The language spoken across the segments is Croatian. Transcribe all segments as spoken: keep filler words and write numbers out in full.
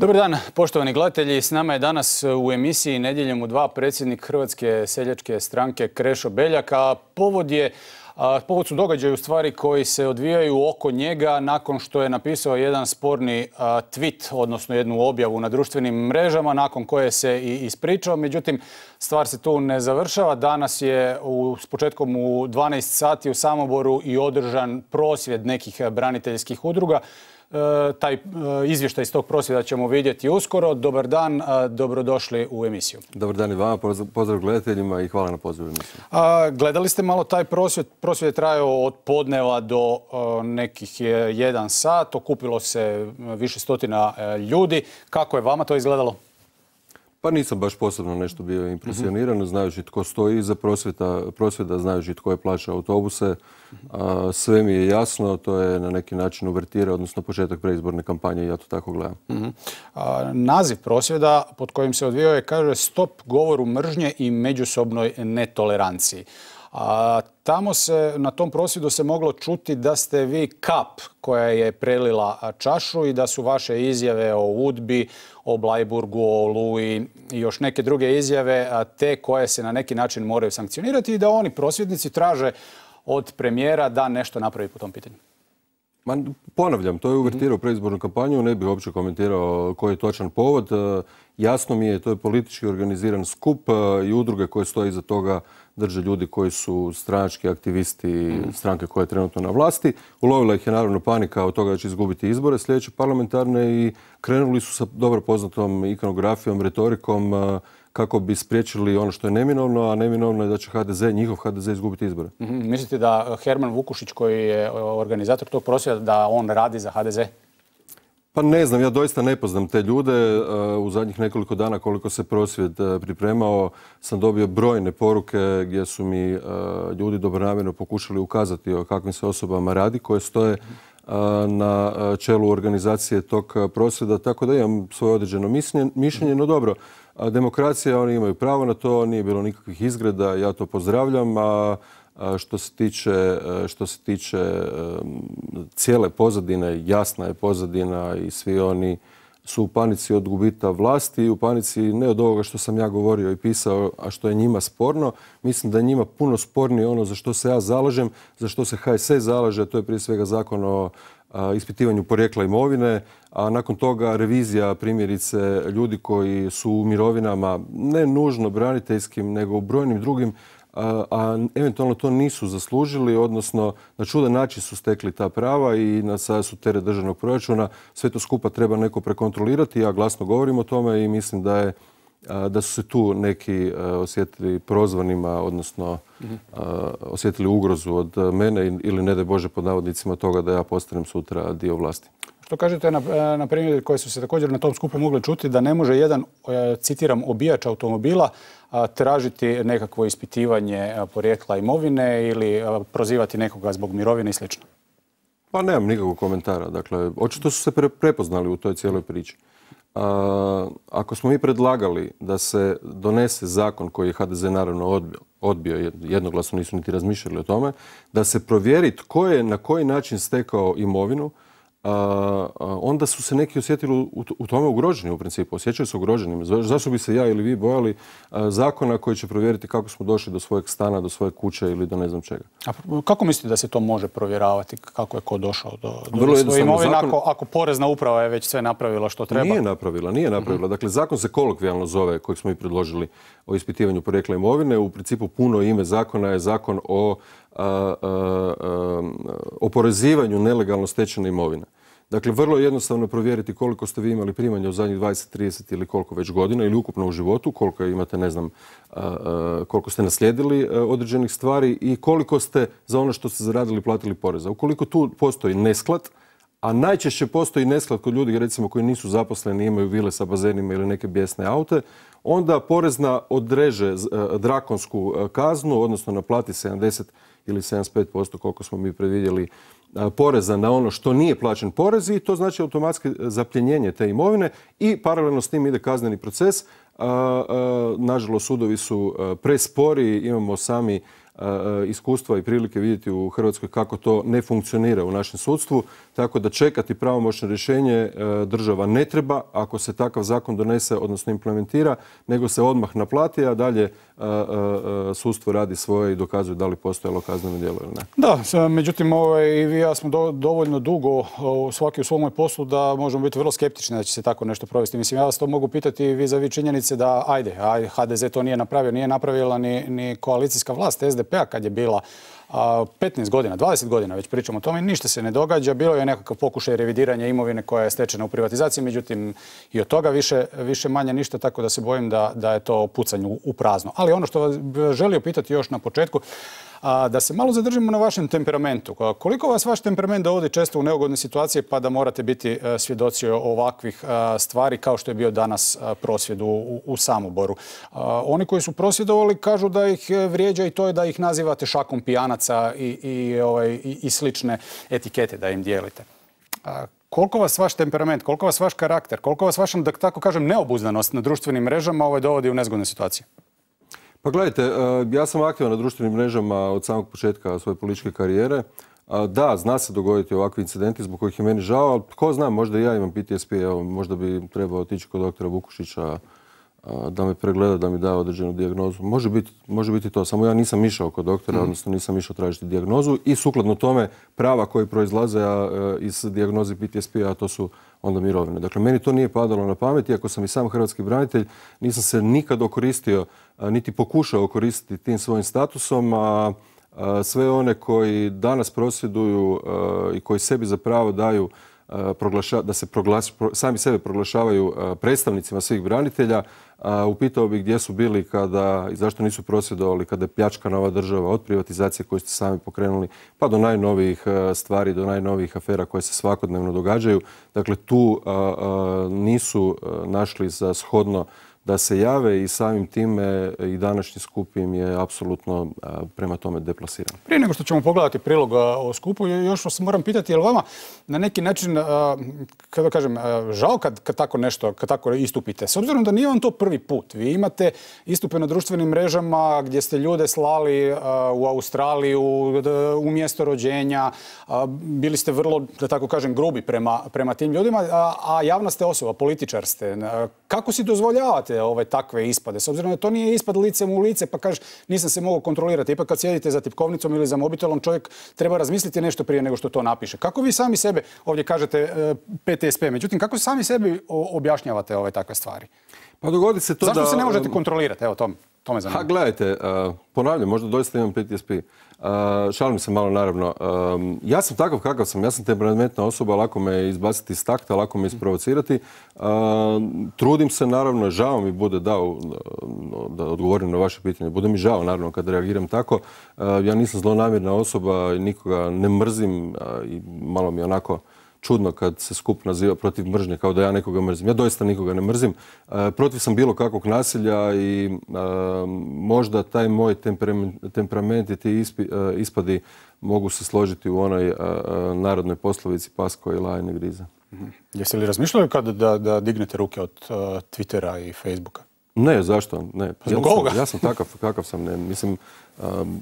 Dobar dan, poštovani gledatelji. S nama je danas u emisiji Nedjeljom u dva predsjednik Hrvatske seljačke stranke Krešo Beljak, a povod je Povod su događaji u stvari koji se odvijaju oko njega nakon što je napisao jedan sporni tweet, odnosno jednu objavu na društvenim mrežama, nakon koje se i ispričao. Međutim, stvar se tu ne završava. Danas je u, s početkom u dvanaest sati u Samoboru i održan prosvjed nekih braniteljskih udruga. E, taj e, izvještaj iz tog prosvjeda ćemo vidjeti uskoro. Dobar dan, a, dobrodošli u emisiju. Dobar dan i vama, pozdrav gledateljima i hvala na pozivu emisiju. A, gledali ste malo taj prosvjed? Prosvjed je trajao od podneva do a, nekih jedan sat. Okupilo se više stotina a, ljudi. Kako je vama to izgledalo? Pa nisam baš posebno nešto bio impresioniran, mm-hmm. znajući tko stoji iza prosvjeda, prosvjeda, znajući tko je plaćao autobuse. Mm-hmm. A, sve mi je jasno, to je na neki način uvertira, odnosno početak preizborne kampanje i ja to tako gledam. Mm-hmm. A, naziv prosvjeda pod kojim se odvijao je, kaže, stop govoru mržnje i međusobnoj netoleranciji. A tamo se, na tom prosvjedu se moglo čuti da ste vi kap koja je prelila čašu i da su vaše izjave o Udbi, o Bleiburgu, o Oluji i još neke druge izjave te koje se na neki način moraju sankcionirati i da oni prosvjednici traže od premijera da nešto napravi po tom pitanju. Ma, ponavljam, to je uvertirao preizbornu kampanju, ne bih uopće komentirao koji je točan povod. Jasno mi je, to je politički organiziran skup i udruge koje stoje iza toga drže ljudi koji su stranački aktivisti stranke koja je trenutno na vlasti. Ulovila ih je naravno panika od toga da će izgubiti izbore sljedeće parlamentarne i krenuli su sa dobro poznatom ikonografijom, retorikom kako bi spriječili ono što je neminovno, a neminovno je da će ha de ze, njihov ha de ze izgubiti izbore. Mm-hmm. Mislite da Herman Vukušić, koji je organizator tog prosvjeda, da on radi za ha de ze? Pa ne znam, ja doista ne poznam te ljude. U zadnjih nekoliko dana koliko se prosvjed pripremao sam dobio brojne poruke gdje su mi ljudi dobronamjerno pokušali ukazati o kakvim se osobama radi koje stoje na čelu organizacije tog prosvjeda, tako da imam svoje određeno mišljenje. No dobro, demokracija, oni imaju pravo na to, nije bilo nikakvih izgreda, ja to pozdravljam. A Što se tiče, što se tiče cijele pozadine, jasna je pozadina i svi oni su u panici od gubita vlasti, u panici ne od ovoga što sam ja govorio i pisao, a što je njima sporno. Mislim da je njima puno spornije ono za što se ja zalažem, za što se ha es es zalaže, to je prije svega zakon o ispitivanju porijekla imovine, a nakon toga revizija primjerice ljudi koji su u mirovinama, ne nužno braniteljskim, nego u brojnim drugim, a, a eventualno to nisu zaslužili, odnosno na čudan način su stekli ta prava i na sada su teret državnog proračuna. Sve to skupa treba neko prekontrolirati. Ja glasno govorim o tome i mislim da je a, da su se tu neki a, osjetili prozvanima, odnosno a, osjetili ugrozu od mene ili ne daj Bože pod navodnicima toga da ja postanem sutra dio vlasti. Što kažete na, na primjer koji su se također na tom skupu mogli čuti da ne može jedan, citiram, obijač automobila tražiti nekakvo ispitivanje porijekla imovine ili prozivati nekoga zbog mirovine i sl. Pa nemam nikakvog komentara. Dakle, očito su se pre, prepoznali u toj cijeloj priči. A, ako smo mi predlagali da se donese zakon koji je ha de ze naravno odbio, odbio jednoglasno, nisu niti razmišljali o tome, da se provjeri tko je na koji način stekao imovinu, Uh, onda su se neki osjetili u, u tome ugroženi u principu. Osjećaju se ugroženim. Zašto bi se ja ili vi bojali uh, zakona koji će provjeriti kako smo došli do svojeg stana, do svoje kuće ili do ne znam čega? A kako mislite da se to može provjeravati? Kako je ko došao do, do svoje imovine zakon... ako, ako porezna uprava je već sve napravila što treba? Nije napravila, nije napravila. Uh-huh. Dakle, zakon se kolokvijalno zove, kojeg smo i predložili o ispitivanju porijekla imovine. U principu puno ime zakona je zakon o A, a, a, oporezivanju nelegalno stečene imovine. Dakle, vrlo je jednostavno provjeriti koliko ste vi imali primanja u zadnjih dvadeset, trideset ili koliko već godina ili ukupno u životu, koliko imate, ne znam, a, a, koliko ste naslijedili a, određenih stvari i koliko ste za ono što ste zaradili platili poreza. Ukoliko tu postoji nesklad, a najčešće postoji nesklad kod ljudi recimo koji nisu zaposleni, imaju vile sa bazenima ili neke bijesne aute, onda porezna odreže drakonsku kaznu, odnosno naplati sedamdeset ili sedamdeset pet posto koliko smo mi predvidjeli poreza na ono što nije plaćen porez i to znači automatski zapljenjenje te imovine i paralelno s tim ide kazneni proces. Nažalost, sudovi su prespori, imamo sami iskustva i prilike vidjeti u Hrvatskoj kako to ne funkcionira u našem sudstvu. Tako da čekati pravomoćno rješenje država ne treba ako se takav zakon donese, odnosno implementira, nego se odmah naplati, a dalje sudstvo radi svoje i dokazuje da li postojalo kazneno djelo ili ne. Da, međutim, ovaj, i vi ja smo do, dovoljno dugo svaki u svom poslu da možemo biti vrlo skeptični da će se tako nešto provesti. Mislim, ja vas to mogu pitati vis-a-vis činjenice da, ajde, aj, ha de ze to nije napravio, nije napravila ni, ni koalicijska vlast es de pe-a kad je bila a, petnaest godina, dvadeset godina već pričamo o tome, ništa se ne događa. Bilo je nekakav pokušaj revidiranja imovine koja je stečena u privatizaciji, međutim i od toga više, više manje ništa, tako da se bojim da, da je to pucanje u, u prazno. Ali ono što vas želio pitati još na početku, a, da se malo zadržimo na vašem temperamentu. Koliko vas vaš temperament dovodi često u neugodne situacije pa da morate biti a, svjedoci ovakvih a, stvari kao što je bio danas a, prosvjed u, u, u Samoboru? A, oni koji su prosvjedovali kažu da ih vrijeđa i to je da ih nazivate šakom pijanaca i, i, ovaj, i, i slične etikete da im dijelite. A, koliko vas vaš temperament, koliko vas vaš karakter, koliko vas vaša, da tako kažem, neobuzdanost na društvenim mrežama ovaj, dovodi u nezgodne situacije? Pa gledajte, ja sam aktivan na društvenim mrežama od samog početka svoje političke karijere. Da, zna se dogoditi ovakvi incidenti zbog kojih je meni žao, ali ko zna, možda i ja imam pe te es pe, evo, možda bi trebao otići kod doktora Vukušića da me pregleda, da mi da određenu dijagnozu. Može biti, može biti to, samo ja nisam išao kod doktora, odnosno nisam išao tražiti dijagnozu i sukladno tome prava koji proizlaze iz dijagnoze pe te es pe, a to su onda mirovine. Dakle, meni to nije padalo na pamet, iako sam i sam hrvatski branitelj, nisam se nikad okoristio, niti pokušao koristiti tim svojim statusom, a sve one koji danas prosvjeduju i koji sebi za pravo daju da se proglaš, sami sebe proglašavaju predstavnicima svih branitelja, upitao bih gdje su bili kada i zašto nisu prosvjedovali kada je pljačkana ova država od privatizacije koju ste sami pokrenuli pa do najnovijih stvari, do najnovijih afera koje se svakodnevno događaju. Dakle, tu nisu našli za shodno da se jave i samim time i današnji skup im je apsolutno prema tome deplasiran. Prije nego što ćemo pogledati prilog o skupu, još vas moram pitati, je li vama na neki način, kada kažem, žao kad, kad tako nešto, kad tako istupite? S obzirom da nije vam to prvi put. Vi imate istupe na društvenim mrežama gdje ste ljude slali u Australiju, u mjesto rođenja, bili ste vrlo, da tako kažem, grubi prema, prema tim ljudima, a, a javna ste osoba, političar ste. Kako si dozvoljavate ove takve ispade? S obzirom da to nije ispad licem u lice, pa kažeš nisam se mogao kontrolirati. Ipak kad sjedite za tipkovnicom ili za mobitelom, čovjek treba razmisliti nešto prije nego što to napiše. Kako vi sami sebe, ovdje kažete pe te es pe, međutim, kako sami sebi objašnjavate ove takve stvari? Pa dogodi se to. Zašto da... se ne možete kontrolirati? Evo, to, to me zanima. Ha, gledajte, uh, ponavljam, možda doista imam pe te es pe. Uh, šalim se malo, naravno. Um, ja sam takav kakav sam. Ja sam temperamentna osoba, lako me izbaciti iz takta, lako me isprovocirati. Uh, trudim se, naravno, žao mi bude dao da odgovorim na vaše pitanje. Bude mi žao, naravno, kad reagiram tako. Uh, ja nisam zlonamjerna osoba, nikoga ne mrzim uh, i malo mi onako čudno kad se skup naziva protiv mržnje, kao da ja nekoga mrzim. Ja doista nikoga ne mrzim. E, protiv sam bilo kakvog nasilja i e, možda taj moj temperament, temperament i ti ispi, e, ispadi mogu se složiti u onoj e, narodnoj poslovici pas koji laje ne grize. Mm-hmm. Jeste li razmišljali kada da, da dignete ruke od uh, Twittera i Facebooka? Ne, zašto? Ne. Ja sam, ja sam takav kakav sam. Ne. Mislim, um,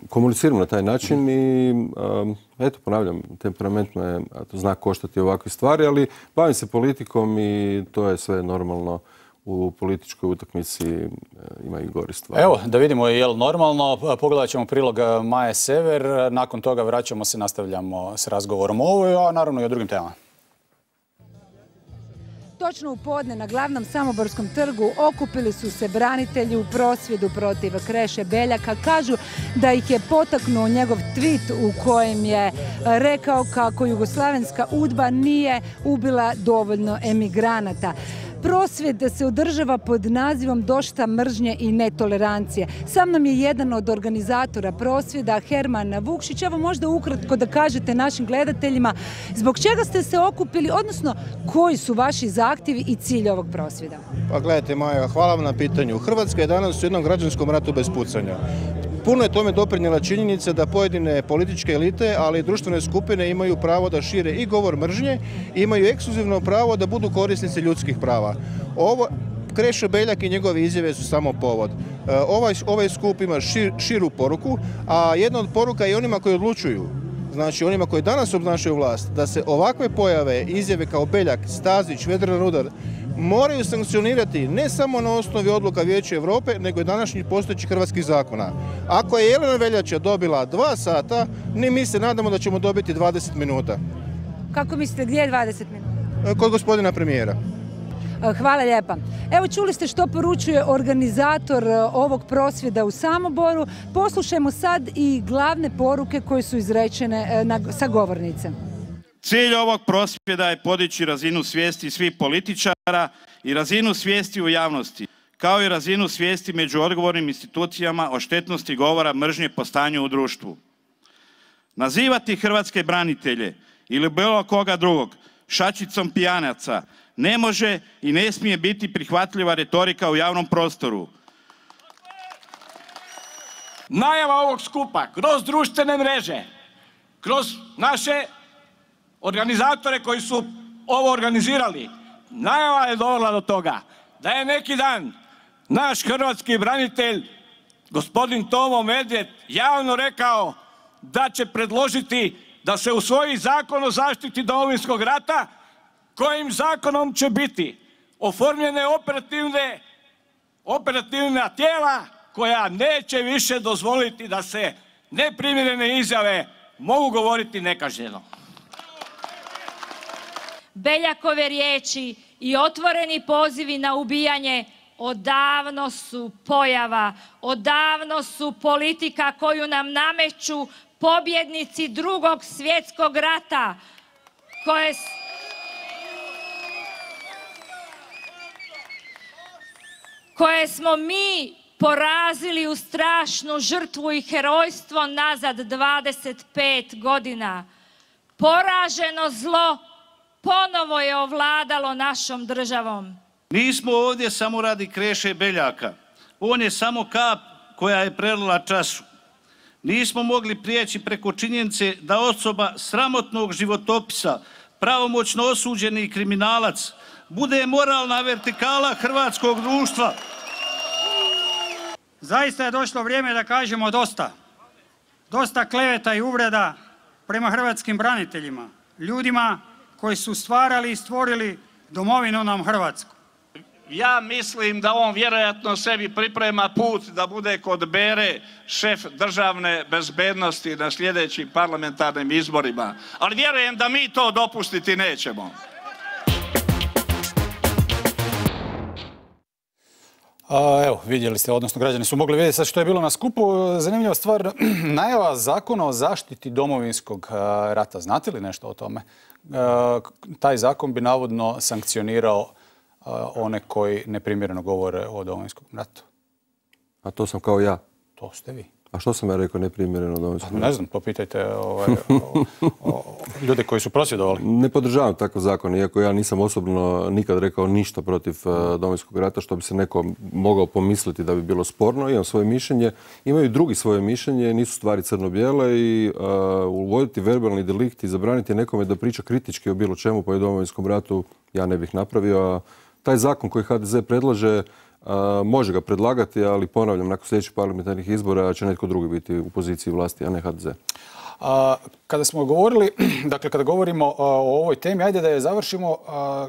komuniciram na taj način i um, eto, ponavljam, temperament me zna koštati ovakve stvari, ali bavim se politikom i to je sve normalno. U političkoj utakmici ima i gori stvari. Evo, da vidimo je li normalno. Pogledat ćemo prilog Maje Sever. Nakon toga vraćamo se, nastavljamo s razgovorom o ovoj, a naravno i o drugim temama. Točno u podne na glavnom Samoborskom trgu okupili su se branitelji u prosvjedu protiv Kreše Beljaka. Kažu da ih je potaknuo njegov tweet u kojem je rekao kako jugoslavenska udba nije ubila dovoljno emigranata. Prosvjed se održava pod nazivom Dosta mržnje i netolerancije. Sa mnom je jedan od organizatora prosvjeda, Herman Vukšić. Evo možda ukratko da kažete našim gledateljima zbog čega ste se okupili, odnosno koji su vaši zahtjevi i cilj ovog prosvjeda? Pa gledajte, Maja, hvala vam na pitanju. Hrvatska je danas u jednom građanskom ratu bez pucanja. Puno je tome doprinijela činjenica da pojedine političke elite, ali i društvene skupine imaju pravo da šire i govor mržnje i imaju ekskluzivno pravo da budu korisnici ljudskih prava. Ovo, Krešo Beljak i njegove izjave su samo povod. Ovaj, ovaj skup ima šir, širu poruku, a jedna od poruka je onima koji odlučuju, znači onima koji danas obnašaju vlast, da se ovakve pojave, izjave kao Beljak, Stazić, Vedran Rudar, moraju sankcionirati ne samo na osnovi odluka Vijeća Europe, nego i današnjih postojećih hrvatskih zakona. Ako je Jelena Veljača dobila dva sata, ni mi se nadamo da ćemo dobiti dvadeset minuta. Kako mislite, gdje je dvadeset minuta? Kod gospodina premijera. Hvala lijepa. Evo, čuli ste što poručuje organizator ovog prosvjeda u Samoboru. Poslušajmo sad i glavne poruke koje su izrečene sa govornice. Cilj ovog prosvjeda je podići razinu svijesti svih političara i razinu svijesti u javnosti, kao i razinu svijesti među odgovornim institucijama o štetnosti govora mržnje po stanju u društvu. Nazivati hrvatske branitelje ili bilo koga drugog šačicom pijanaca ne može i ne smije biti prihvatljiva retorika u javnom prostoru. Najava ovog skupa kroz društvene mreže, kroz naše organizatore koji su ovo organizirali, najava je dovela do toga da je neki dan naš hrvatski branitelj, gospodin Tomo Medved, javno rekao da će predložiti da se usvoji zakon o zaštiti Domovinskog rata, kojim zakonom će biti oformljene operativne, operativna tijela koja neće više dozvoliti da se neprimjerene izjave mogu govoriti nekažnjeno. Beljakove riječi i otvoreni pozivi na ubijanje odavno su pojava, odavno su politika koju nam nameću pobjednici Drugog svjetskog rata, koje, koje smo mi porazili u strašnu žrtvu i herojstvo nazad dvadeset pet godina. Poraženo zlo ponovo je ovladalo našom državom. Nismo ovdje samo radi Kreše Beljaka. On je samo kap koja je prelila čašu. Nismo mogli prijeći preko činjenice da osoba sramotnog životopisa, pravomoćno osuđeni kriminalac, bude moralna vertikala hrvatskog društva. Zaista je došlo vrijeme da kažemo dosta. Dosta kleveta i uvreda prema hrvatskim braniteljima, ljudima koji su stvarali i stvorili domovinu nam Hrvatsku. Ja mislim da on vjerojatno sebi priprema put da bude kod Bere šef državne bezbednosti na sljedećim parlamentarnim izborima. Ali vjerujem da mi to dopustiti nećemo. A, evo, vidjeli ste, odnosno građani su mogli vidjeti sad što je bilo na skupu. Zanimljiva stvar, najava zakona o zaštiti Domovinskog rata. Znate li nešto o tome? Taj zakon bi navodno sankcionirao one koji neprimjereno govore o Domovinskom ratu. A to sam kao ja. To ste vi. A što sam ja rekao neprimjereno o Domovinskom ratu? Ne znam, popitajte ovaj, o, o, ljude koji su prosvjedovali. Ne podržavam takav zakon, iako ja nisam osobno nikad rekao ništa protiv uh, Domovinskog rata, što bi se neko mogao pomisliti da bi bilo sporno. Imam svoje mišljenje, imaju drugi svoje mišljenje, nisu stvari crno-bijele i uh, uvoditi verbalni delikt i zabraniti nekome da priča kritički o bilo čemu pa i Domovinskom ratu ja ne bih napravio. A taj zakon koji H D Z predlaže, Uh, može ga predlagati, ali ponavljam, nakon sljedećih parlamentarnih izbora će netko drugi biti u poziciji vlasti, a ne H D Z. A, kada smo govorili, dakle kada govorimo a, o ovoj temi, ajde da je završimo. A,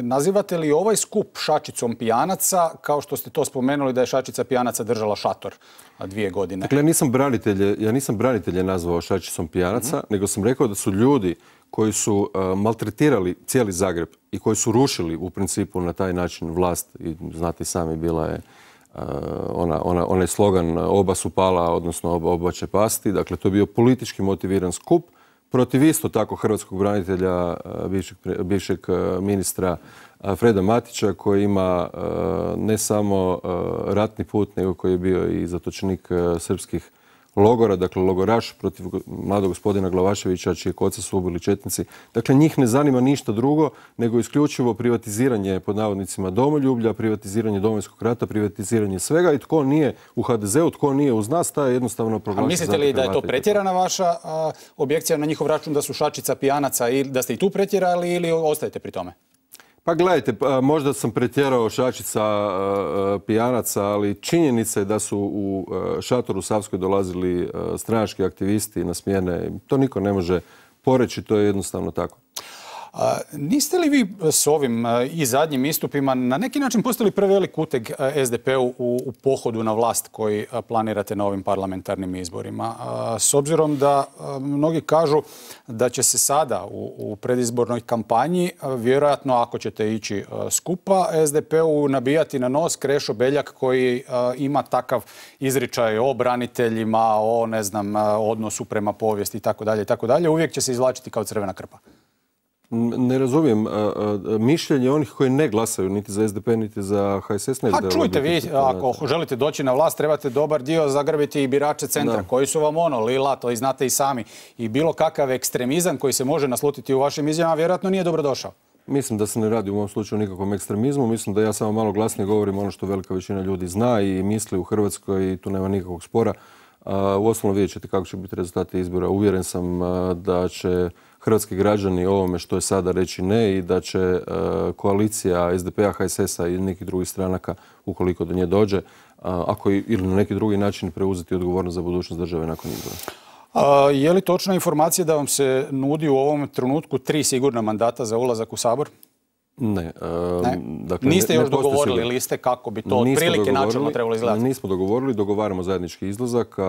nazivate li ovaj skup šačicom pijanaca, kao što ste to spomenuli da je šačica pijanaca držala šator a, dvije godine? Dakle, ja nisam branitelje, ja nisam branitelje nazvao šačicom pijanaca, mm-hmm. nego sam rekao da su ljudi koji su uh, maltretirali cijeli Zagreb i koji su rušili u principu na taj način vlast, i znate i sami, bila je uh, ona, ona, onaj slogan oba su pala, odnosno oba, oba će pasti. Dakle, to je bio politički motiviran skup protiv isto tako hrvatskog branitelja, uh, bivšeg, bivšeg uh, ministra uh, Freda Matića, koji ima uh, ne samo uh, ratni put, nego koji je bio i zatočenik uh, srpskih logora, dakle logoraš protiv mladog gospodina Glavaševića, čije oca su ubili četnici. Dakle, njih ne zanima ništa drugo nego isključivo privatiziranje, pod navodnicima, domoljublja, privatiziranje Domovinskog rata, privatiziranje svega, i tko nije u H D Z-u, tko nije uz nas, taj je jednostavno proglašen. A mislite li da je to pretjerana vaša a, objekcija na njihov račun da su šačica pijanaca i da ste i tu pretjerali ili ostajete pri tome? Pa gledajte, možda sam pretjerao šačica pijanaca, ali činjenica je da su u šatoru Savskoj dolazili stranački aktivisti na smjene. To niko ne može poreći, to je jednostavno tako. A, niste li vi s ovim a, i zadnjim istupima na neki način postavili prevelik uteg S D P-u u, u pohodu na vlast koji a, planirate na ovim parlamentarnim izborima? A, s obzirom da a, mnogi kažu da će se sada u, u predizbornoj kampanji a, vjerojatno ako ćete ići a, skupa S D P-u nabijati na nos Krešo Beljak koji a, ima takav izričaj o braniteljima, o ne znam, a, odnosu prema povijesti i tako dalje i tako dalje. Uvijek će se izvlačiti kao crvena krpa. Ne razumijem. Mišljenje onih koji ne glasaju niti za S D P, niti za H S S. Ne A čujte vi, ako želite doći na vlast, trebate dobar dio zagrbiti i birače centra, koji su vam ono, lila, to i znate i sami. I bilo kakav ekstremizam koji se može naslutiti u vašim izjavama, vjerojatno nije dobro došao. Mislim da se ne radi u ovom slučaju nikakvom ekstremizmu. Mislim da ja samo malo glasnije govorim ono što velika većina ljudi zna i misli u Hrvatskoj i tu nema nikakvog spora. Uostalom vidjet ćete kako će biti rezultati izbora. Uvjeren sam da će hrvatski građani ovome što je sada reći ne i da će koalicija S D P-a, H S S-a i nekih drugih stranaka, ukoliko do nje dođe, ako ili na neki drugi način preuzeti odgovornost za budućnost države nakon izbora. A, je li točna informacija da vam se nudi u ovom trenutku tri sigurna mandata za ulazak u Sabor? Ne. ne? Dakle, Niste ne, još ne dogovorili sigurno. Liste kako bi to otprilike načelno trebalo izgledati? Nismo dogovorili, dogovaramo zajednički izlazak, a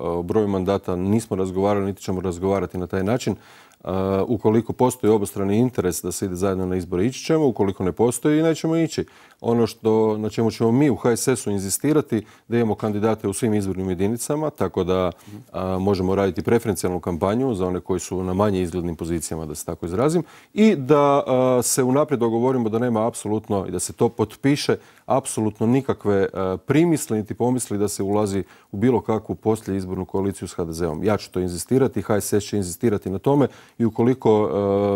o broju mandata nismo razgovarali, niti ćemo razgovarati na taj način. Uh, ukoliko postoji obostrani interes da se ide zajedno na izbore, ići ćemo, ukoliko ne postoji, nećemo ići. Ono što, na čemu ćemo mi u H S S-u inzistirati da imamo kandidate u svim izbornim jedinicama, tako da uh, možemo raditi preferencijalnu kampanju za one koji su na manje izglednim pozicijama, da se tako izrazim, i da uh, se unaprijed dogovorimo da nema apsolutno i da se to potpiše apsolutno nikakve uh, primisli niti pomisli da se ulazi u bilo kakvu poslije izbornu koaliciju s H D Z-om. Ja ću to inzistirati, H S S će inzistirati na tome i ukoliko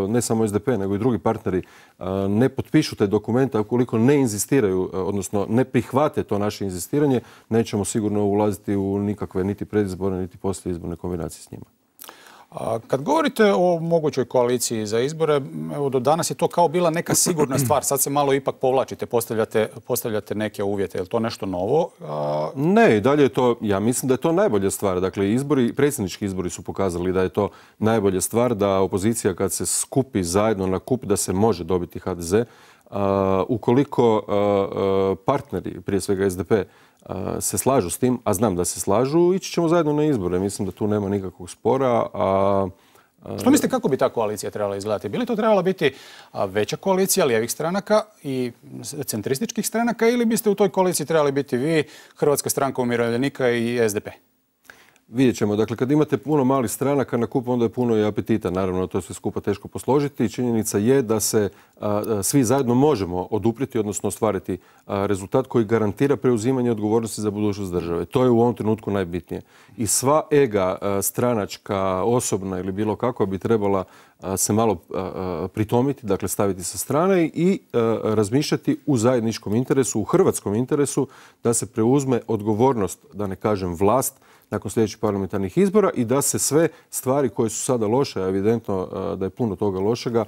ne samo S D P nego i drugi partneri ne potpišu taj dokument, a ukoliko ne inzistiraju, odnosno ne prihvate to naše inzistiranje, nećemo sigurno ulaziti u nikakve niti predizborne niti poslijeizborne kombinacije s njima. Kad govorite o mogućoj koaliciji za izbore, evo do danas je to kao bila neka sigurna stvar. Sad se malo ipak povlačite, postavljate, postavljate neke uvjete. Je li to nešto novo? A... Ne, i dalje je to, ja mislim da je to najbolja stvar. Dakle, izbori, predsjednički izbori su pokazali da je to najbolja stvar, da opozicija kad se skupi zajedno na kup, da se može dobiti H D Z. A, ukoliko a, partneri, prije svega S D P, se slažu s tim, a znam da se slažu, ići ćemo zajedno na izbore. Mislim da tu nema nikakvog spora. A, a... Što mislite kako bi ta koalicija trebala izgledati? Bi li to trebala biti veća koalicija lijevih stranaka i centrističkih stranaka ili biste u toj koaliciji trebali biti vi, Hrvatska stranka umirovljenika i S D P? Vidjet ćemo. Dakle, kad imate puno malih stranaka na kup, onda je puno i apetita. Naravno, to je sve skupa teško posložiti. Činjenica je da se a, svi zajedno možemo oduprijeti, odnosno ostvariti a, rezultat koji garantira preuzimanje odgovornosti za budućnost države. To je u ovom trenutku najbitnije. I sva ega a, stranačka, osobna ili bilo kakva bi trebala a, se malo a, pritomiti, dakle staviti sa strane i a, razmišljati u zajedničkom interesu, u hrvatskom interesu, da se preuzme odgovornost, da ne kažem vlast, nakon sljedećih parlamentarnih izbora i da se sve stvari koje su sada loše, a evidentno da je puno toga lošega,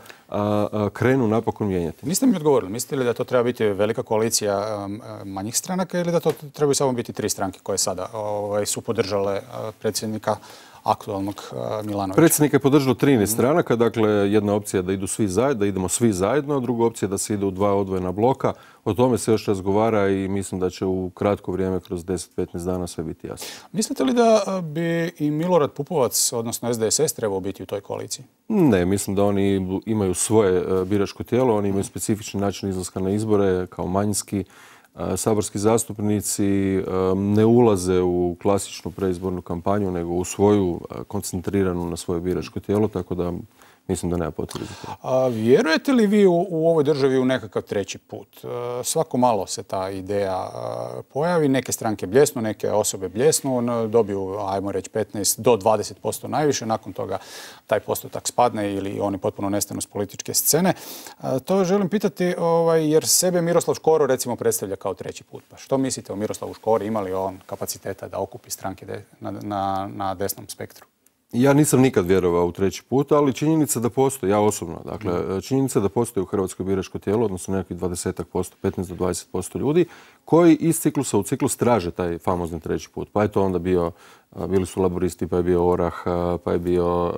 krenu napokon mijenjati. Niste mi odgovorili. Mislite li da to treba biti velika koalicija manjih stranaka ili da to trebaju samo biti tri stranke koje sada ovaj, su podržale predsjednika aktualnog Milanovića? Predsjednik je podržao trinaest stranaka, dakle jedna opcija je da idu svi zajedno, da idemo svi zajedno, druga opcija je da se ide u dva odvojena bloka. O tome se još razgovara i mislim da će u kratko vrijeme, kroz deset do petnaest dana, sve biti jasno. Mislite li da bi i Milorad Pupovac, odnosno S D S S, trebao biti u toj koaliciji? Ne, mislim da oni imaju svoje biračko tijelo, oni imaju specifični način izlaska na izbore kao manjinski. Saborski zastupnici ne ulaze u klasičnu preizbornu kampanju, nego u svoju koncentriranu na svoje biračko tijelo, tako da mislim da nema potrebe za to. A vjerujete li vi u, u ovoj državi u nekakav treći put? Svako malo se ta ideja pojavi, neke stranke bljesnu, neke osobe bljesnu, dobiju, ajmo reći, petnaest do dvadeset posto najviše, nakon toga taj postotak spadne ili oni potpuno nestanu s političke scene. To želim pitati ovaj, jer sebe Miroslav Škoro recimo predstavlja kao treći put. Pa što mislite o Miroslavu Škori? Ima li on kapaciteta da okupi stranke de, na, na, na desnom spektru? Ja nisam nikad vjerovao u treći put, ali činjenica da postoji, ja osobno, dakle, činjenica da postoji u Hrvatskoj biračko tijelo, odnosno nekakvih dvadeset posto, petnaest do dvadeset posto ljudi koji iz ciklusa u ciklus traže taj famozni treći put. Pa je to onda bio, bili su laboristi, pa je bio Orah, pa je bio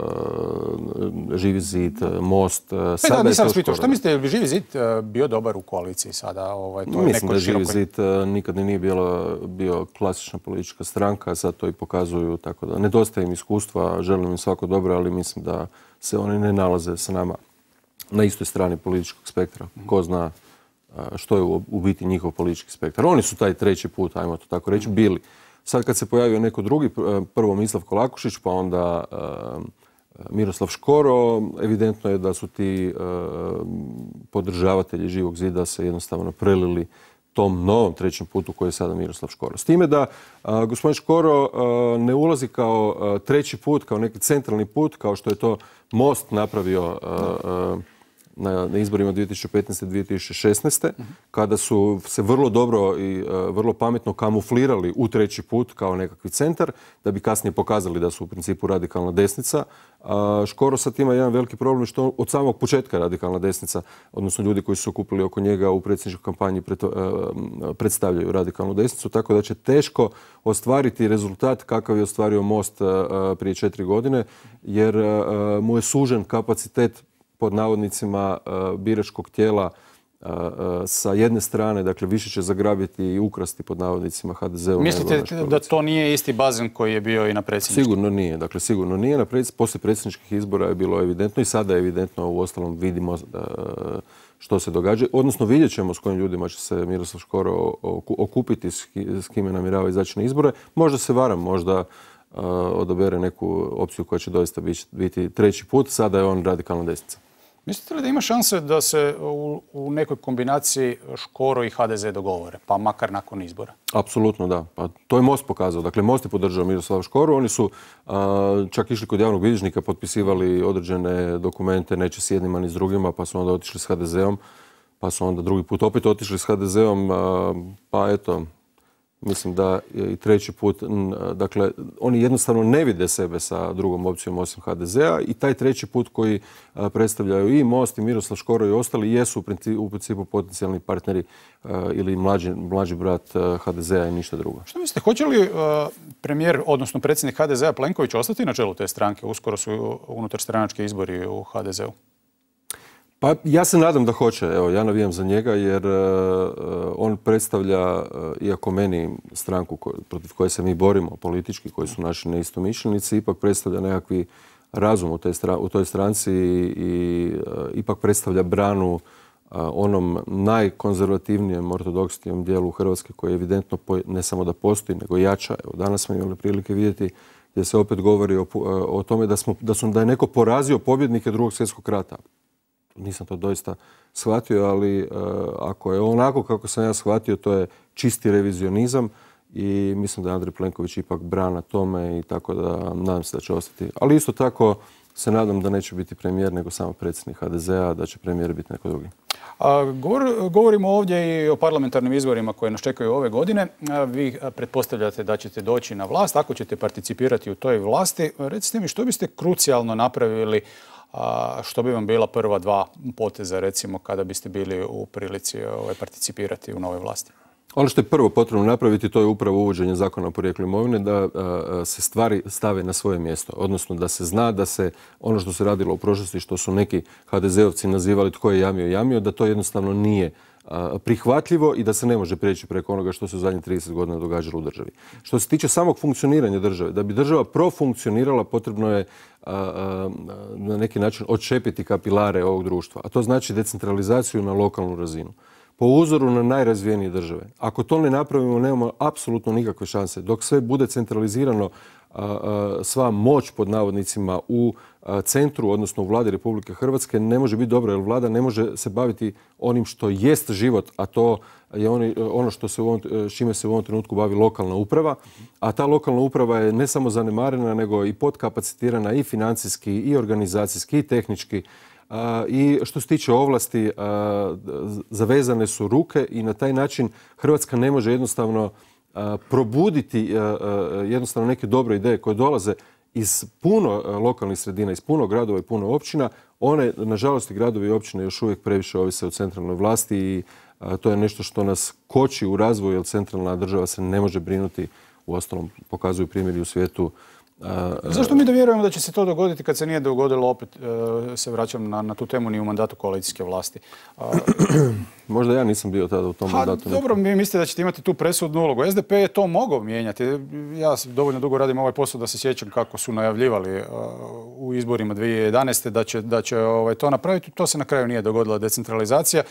Živi zid, Most. Sada da, nisam pitao, što mislite, je li Živi zid bio dobar u koaliciji sada? Ovaj, to Mislim da je Živi zid nikad nije bilo, bio klasična politička stranka, sad to i pokazuju, tako da nedostaje im iskustva, želim im svako dobro, ali mislim da se oni ne nalaze sa nama na istoj strani političkog spektra. Ko zna što je u biti njihov politički spektar. Oni su taj treći put, ajmo to tako reći, bili. Sad kad se pojavio neko drugi, prvo Mislav Kolakušić, pa onda Miroslav Škoro, evidentno je da su ti podržavatelji Živog zida se jednostavno prelili tom novom trećem putu koji je sada Miroslav Škoro. S time da a, gospodin Škoro a, ne ulazi kao a, treći put, kao neki centralni put, kao što je to Most napravio a, na, na izborima dvije tisuće petnaeste. dvije tisuće šesnaeste. kada su se vrlo dobro i uh, vrlo pametno kamuflirali u treći put kao nekakvi centar, da bi kasnije pokazali da su u principu radikalna desnica. Uh, Škoro sad ima jedan veliki problem što od samog početka radikalna desnica, odnosno ljudi koji su se okupili oko njega u predsjedničkoj kampanji pred, uh, predstavljaju radikalnu desnicu, tako da će teško ostvariti rezultat kakav je ostvario Most uh, prije četiri godine, jer uh, mu je sužen kapacitet pod navodnicima biračkog tijela sa jedne strane, dakle više će zagrabiti i ukrasti pod navodnicima ha de ze-u. Mislite da to nije isti bazen koji je bio i na predsjedničkim? Sigurno nije. Dakle, sigurno nije. Na predsjedničkih, poslije predsjedničkih izbora je bilo evidentno i sada je evidentno, u ostalom vidimo što se događa. Odnosno vidjet ćemo s kojim ljudima će se Miroslav Škoro okupiti, s kime namjerava izaći na izbore. Možda se varam, možda odabere neku opciju koja će doista biti treći put. Sada je on radikalna desnica. Mislite li da ima šanse da se u, u nekoj kombinaciji Škoro i ha de ze dogovore, pa makar nakon izbora? Apsolutno da. Pa to je Most pokazao. Dakle, Most je podržao Miroslava Škoru. Oni su a, čak išli kod javnog bilježnika, potpisivali određene dokumente, neće s jednima ni s drugima, pa su onda otišli s ha de ze-om, pa su onda drugi put opet otišli s ha de ze-om, a, pa eto, mislim da je i treći put, dakle, oni jednostavno ne vide sebe sa drugom opcijom osim ha de ze-a i taj treći put koji predstavljaju i Most i Miroslav Škoro i ostali jesu u principu potencijalni partneri ili mlađi, mlađi brat ha de ze-a i ništa drugo. Što mislite, hoće li premijer, odnosno predsjednik ha de ze-a Plenković ostati na čelu te stranke? Uskoro su unutar stranački izbori u ha de ze-u. Pa ja se nadam da hoće. Evo, ja navijam za njega jer uh, on predstavlja, uh, iako meni stranku ko, protiv koje se mi borimo politički, koji su naši neistomišljenici, ipak predstavlja nekakvi razum u, te stra, u toj stranci i uh, ipak predstavlja branu uh, onom najkonzervativnijem ortodoksnijem dijelu Hrvatske koji je evidentno po, ne samo da postoji, nego jača. Evo, danas smo imali prilike vidjeti gdje se opet govori o, o tome da, smo, da, su, da je neko porazio pobjednike drugog svjetskog rata. Nisam to doista shvatio, ali uh, ako je onako kako sam ja shvatio, to je čisti revizionizam i mislim da je Andrej Plenković ipak brana tome i tako da nadam se da će ostati. Ali isto tako se nadam da neće biti premijer nego samo predsjednik ha de ze-a, da će premijer biti neko drugi. A, govor, govorimo ovdje i o parlamentarnim izborima koje nas čekaju ove godine. A, vi pretpostavljate da ćete doći na vlast, ako ćete participirati u toj vlasti. Recite mi što biste krucijalno napravili, a što bi vam bila prva dva poteza, recimo, kada biste bili u prilici ovaj, participirati u novoj vlasti? Ono što je prvo potrebno napraviti, to je upravo uvođenje zakona o porijeklu imovine, da a, se stvari stave na svoje mjesto. Odnosno da se zna da se ono što se radilo u prošlosti, što su neki ha de ze-ovci nazivali tko je jamio, jamio, da to jednostavno nije a, prihvatljivo i da se ne može prijeći preko onoga što se u zadnjih trideset godina događalo u državi. Što se tiče samog funkcioniranja države, da bi država profunkcionirala, potrebno je a, a, na neki način odčepiti kapilare ovog društva. A to znači decentralizaciju na lokalnu razinu. Po uzoru na najrazvijenije države. Ako to ne napravimo, nemamo apsolutno nikakve šanse. Dok sve bude centralizirano, sva moć pod navodnicima u centru, odnosno u vladi Republike Hrvatske, ne može biti dobro, jer vlada ne može se baviti onim što jest život, a to je ono što se u ovom, čime se u ovom trenutku bavi lokalna uprava. A ta lokalna uprava je ne samo zanemarena, nego i podkapacitirana i financijski, i organizacijski, i tehnički. I što se tiče ovlasti, zavezane su ruke i na taj način Hrvatska ne može jednostavno probuditi jednostavno neke dobre ideje koje dolaze iz puno lokalnih sredina, iz puno gradova i puno općina. One, nažalost, i gradovi i općine još uvijek previše ovise o centralnoj vlasti i to je nešto što nas koči u razvoju, jer centralna država se ne može brinuti. Uostalom, pokazuju primjeri u svijetu. Zašto mi da vjerujemo da će se to dogoditi kad se nije dogodilo, opet se vraćam na, na tu temu, ni u mandatu koalicijske vlasti? Možda ja nisam bio tada u tom ha, mandatu. Dobro, mi mislite da ćete imati tu presudnu ulogu. S D P je to mogao mijenjati. Ja dovoljno dugo radim ovaj posao da se sjećam kako su najavljivali u izborima dvije tisuće jedanaeste. da će, da će ovaj, to napraviti. To se na kraju nije dogodila decentralizacija.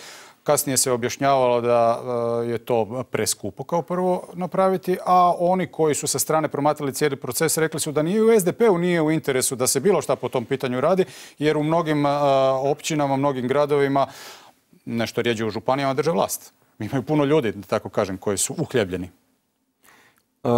Kasnije se objašnjavalo da je to preskupo kao prvo napraviti, a oni koji su sa strane promatrali cijeli proces rekli su da nije u S D P-u nije u interesu da se bilo šta po tom pitanju radi, jer u mnogim općinama, mnogim gradovima, nešto rijeđe u županijama, drže vlast. Imaju puno ljudi, da tako kažem, koji su uhljebljeni. Uh,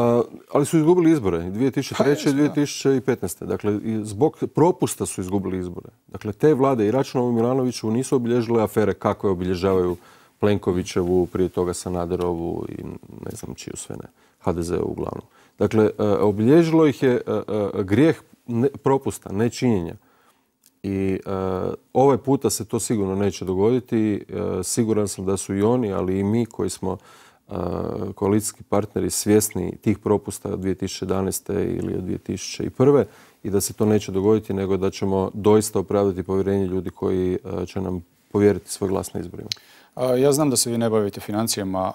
ali su izgubili izbore dvije tisuće treće. i dvije tisuće petnaeste. Dakle, zbog propusta su izgubili izbore. Dakle, te vlade i Račanovu i Milanoviću nisu obilježile afere kako je obilježavaju Plenkovićevu, prije toga Sanaderovu i ne znam čiju sve ne, H D Z-u uglavnom. Dakle, uh, obilježilo ih je uh, uh, grijeh ne, propusta, nečinjenja. I uh, ovaj puta se to sigurno neće dogoditi. Uh, siguran sam da su i oni, ali i mi koji smo koalicijski partneri svjesni tih propusta od dvije tisuće jedanaeste. ili od dvije tisuće prve. i da se to neće dogoditi, nego da ćemo doista opravdati povjerenje ljudi koji će nam povjeriti svoj glas na izborima. Ja znam da se vi ne bavite financijama,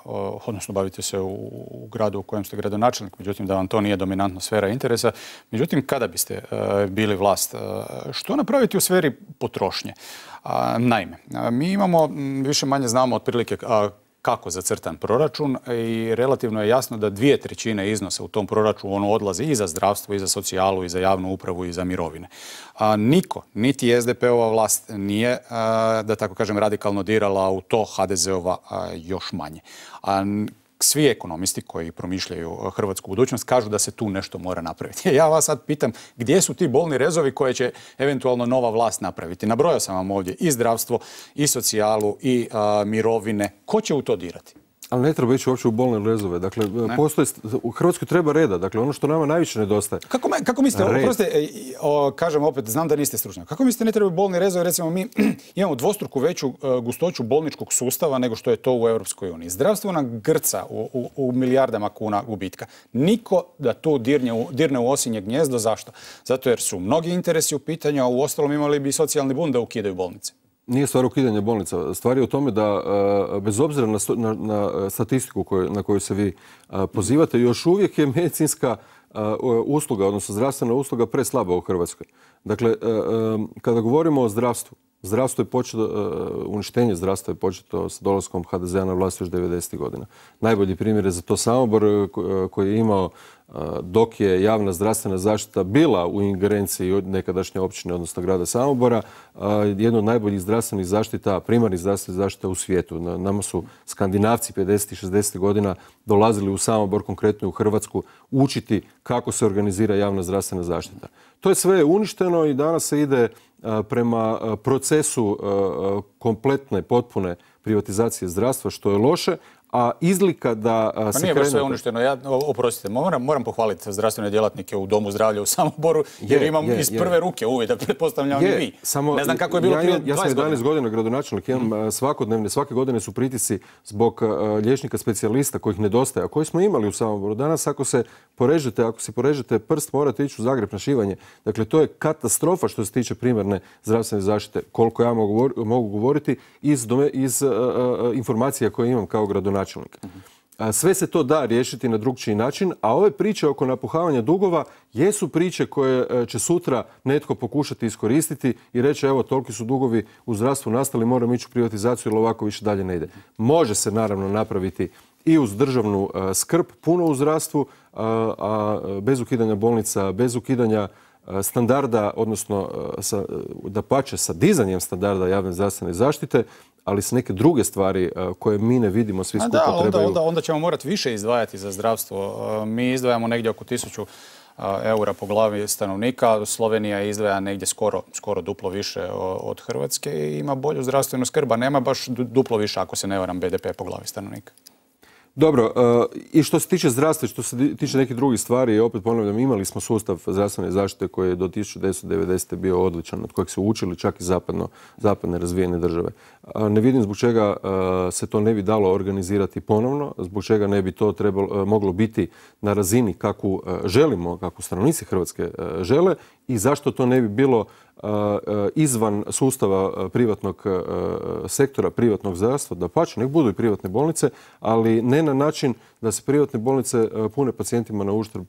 odnosno bavite se u gradu u kojem ste gradonačelnik, međutim da vam to nije dominantna sfera interesa. Međutim, kada biste bili vlast, što napraviti u sferi potrošnje? Naime, mi imamo, više manje znamo otprilike kako zacrtan proračun i relativno je jasno da dvije trećine iznosa u tom proračunu odlazi i za zdravstvo, i za socijalu, i za javnu upravu, i za mirovine. A, niko, niti S D P-ova vlast nije, a, da tako kažem, radikalno dirala u to, H D Z-ova još manje. A, svi ekonomisti koji promišljaju hrvatsku budućnost kažu da se tu nešto mora napraviti. Ja vas sad pitam gdje su ti bolni rezovi koje će eventualno nova vlast napraviti. Nabrojao sam vam ovdje i zdravstvo, i socijalu, i a, mirovine. Ko će u to dirati? Ali ne treba ići uopće u bolne rezove. Dakle, postoje, u Hrvatskoj treba reda. Dakle, ono što nama najviše nedostaje. Kako, kako mislite, oprostite, kažem opet, znam da niste stručnjak. Kako mislite ne treba bolni rezovi? Recimo, mi imamo dvostruku veću uh, gustoću bolničkog sustava nego što je to u Europskoj uniji. Zdravstvo nam grca u, u, u milijardama kuna gubitka. Niko da tu dirne u, dirne u osinje gnjezdo. Zašto? Zato jer su mnogi interesi u pitanju, a u ostalom imali bi socijalni bund da ukidaju bolnice. Nije stvar ukidanja bolnica. Stvar je u tome da, bez obzira na, na, na statistiku koju, na koju se vi pozivate, još uvijek je medicinska usluga, odnosno zdravstvena usluga preslaba u Hrvatskoj. Dakle, kada govorimo o zdravstvu, zdravstvo je početo, uništenje zdravstva je početo s dolaskom H D Z-a na vlast još devedesetih godina. Najbolji primjer je za to Samobor koji je imao, dok je javna zdravstvena zaštita bila u ingerenciji nekadašnje općine, odnosno grada Samobora, jedno od najboljih zdravstvenih zaštita, primarnih zdravstvenih zaštita u svijetu. Nama su Skandinavci pedesetih i šezdesetih godina dolazili u Samobor, konkretno u Hrvatsku, učiti kako se organizira javna zdravstvena zaštita. To je sve uništeno i danas se ide prema procesu kompletne, potpune privatizacije zdravstva, što je loše, a izlika da pa se nije krene... baš sve uništeno. Ja, oprostite, moram, moram pohvaliti zdravstvene djelatnike u Domu zdravlja u Samoboru, jer je, imam je, iz prve je. ruke uvida, pretpostavljam i vi. Samo, ne znam kako je bilo ja, prije ja dvadeset godina. Ja sam jedanaest godina gradonačelnik, imam mm. svakodnevne, svake godine su pritisci zbog uh, liječnika specijalista kojih nedostaje, a koji smo imali u Samoboru. Danas ako se porežete, ako si porežete prst, morate ići u Zagreb na šivanje. Dakle, to je katastrofa što se tiče primarne zdravstvene zaštite, koliko ja mogu, mogu govoriti iz, dome, iz uh, uh, informacija koje imam kao gradonačelnik. Sve se to da riješiti na drugčiji način, a ove priče oko napuhavanja dugova jesu priče koje će sutra netko pokušati iskoristiti i reći evo toliki su dugovi u zdravstvu nastali, moramo ići u privatizaciju jer ovako više dalje ne ide. Može se naravno napraviti i uz državnu skrb, puno u zdravstvu, a bez ukidanja bolnica, bez ukidanja standarda, odnosno dapače sa dizanjem standarda javne zdravstvene zaštite, ali s neke druge stvari koje mi ne vidimo, svi skupa da, trebaju... Onda, onda ćemo morati više izdvajati za zdravstvo. Mi izdvajamo negdje oko tisuću eura po glavi stanovnika. Slovenija izdvaja negdje skoro, skoro duplo više od Hrvatske i ima bolju zdravstvenu skrb, a nema baš duplo više, ako se ne varam, B D P po glavi stanovnika. Dobro, i što se tiče zdravstva, što se tiče nekih drugih stvari, opet ponavljam, imali smo sustav zdravstvene zaštite koji je do tisuću devetsto devedesete. bio odličan, od kojeg su učili čak i zapadno, zapadne razvijene države. Ne vidim zbog čega se to ne bi dalo organizirati ponovno, zbog čega ne bi to trebalo, moglo biti na razini kakvu želimo, kakvu stanovnici Hrvatske žele i zašto to ne bi bilo izvan sustava privatnog sektora, privatnog zdravstva, dapače, nek budu i privatne bolnice, ali ne na način da se privatne bolnice pune pacijentima na uštrb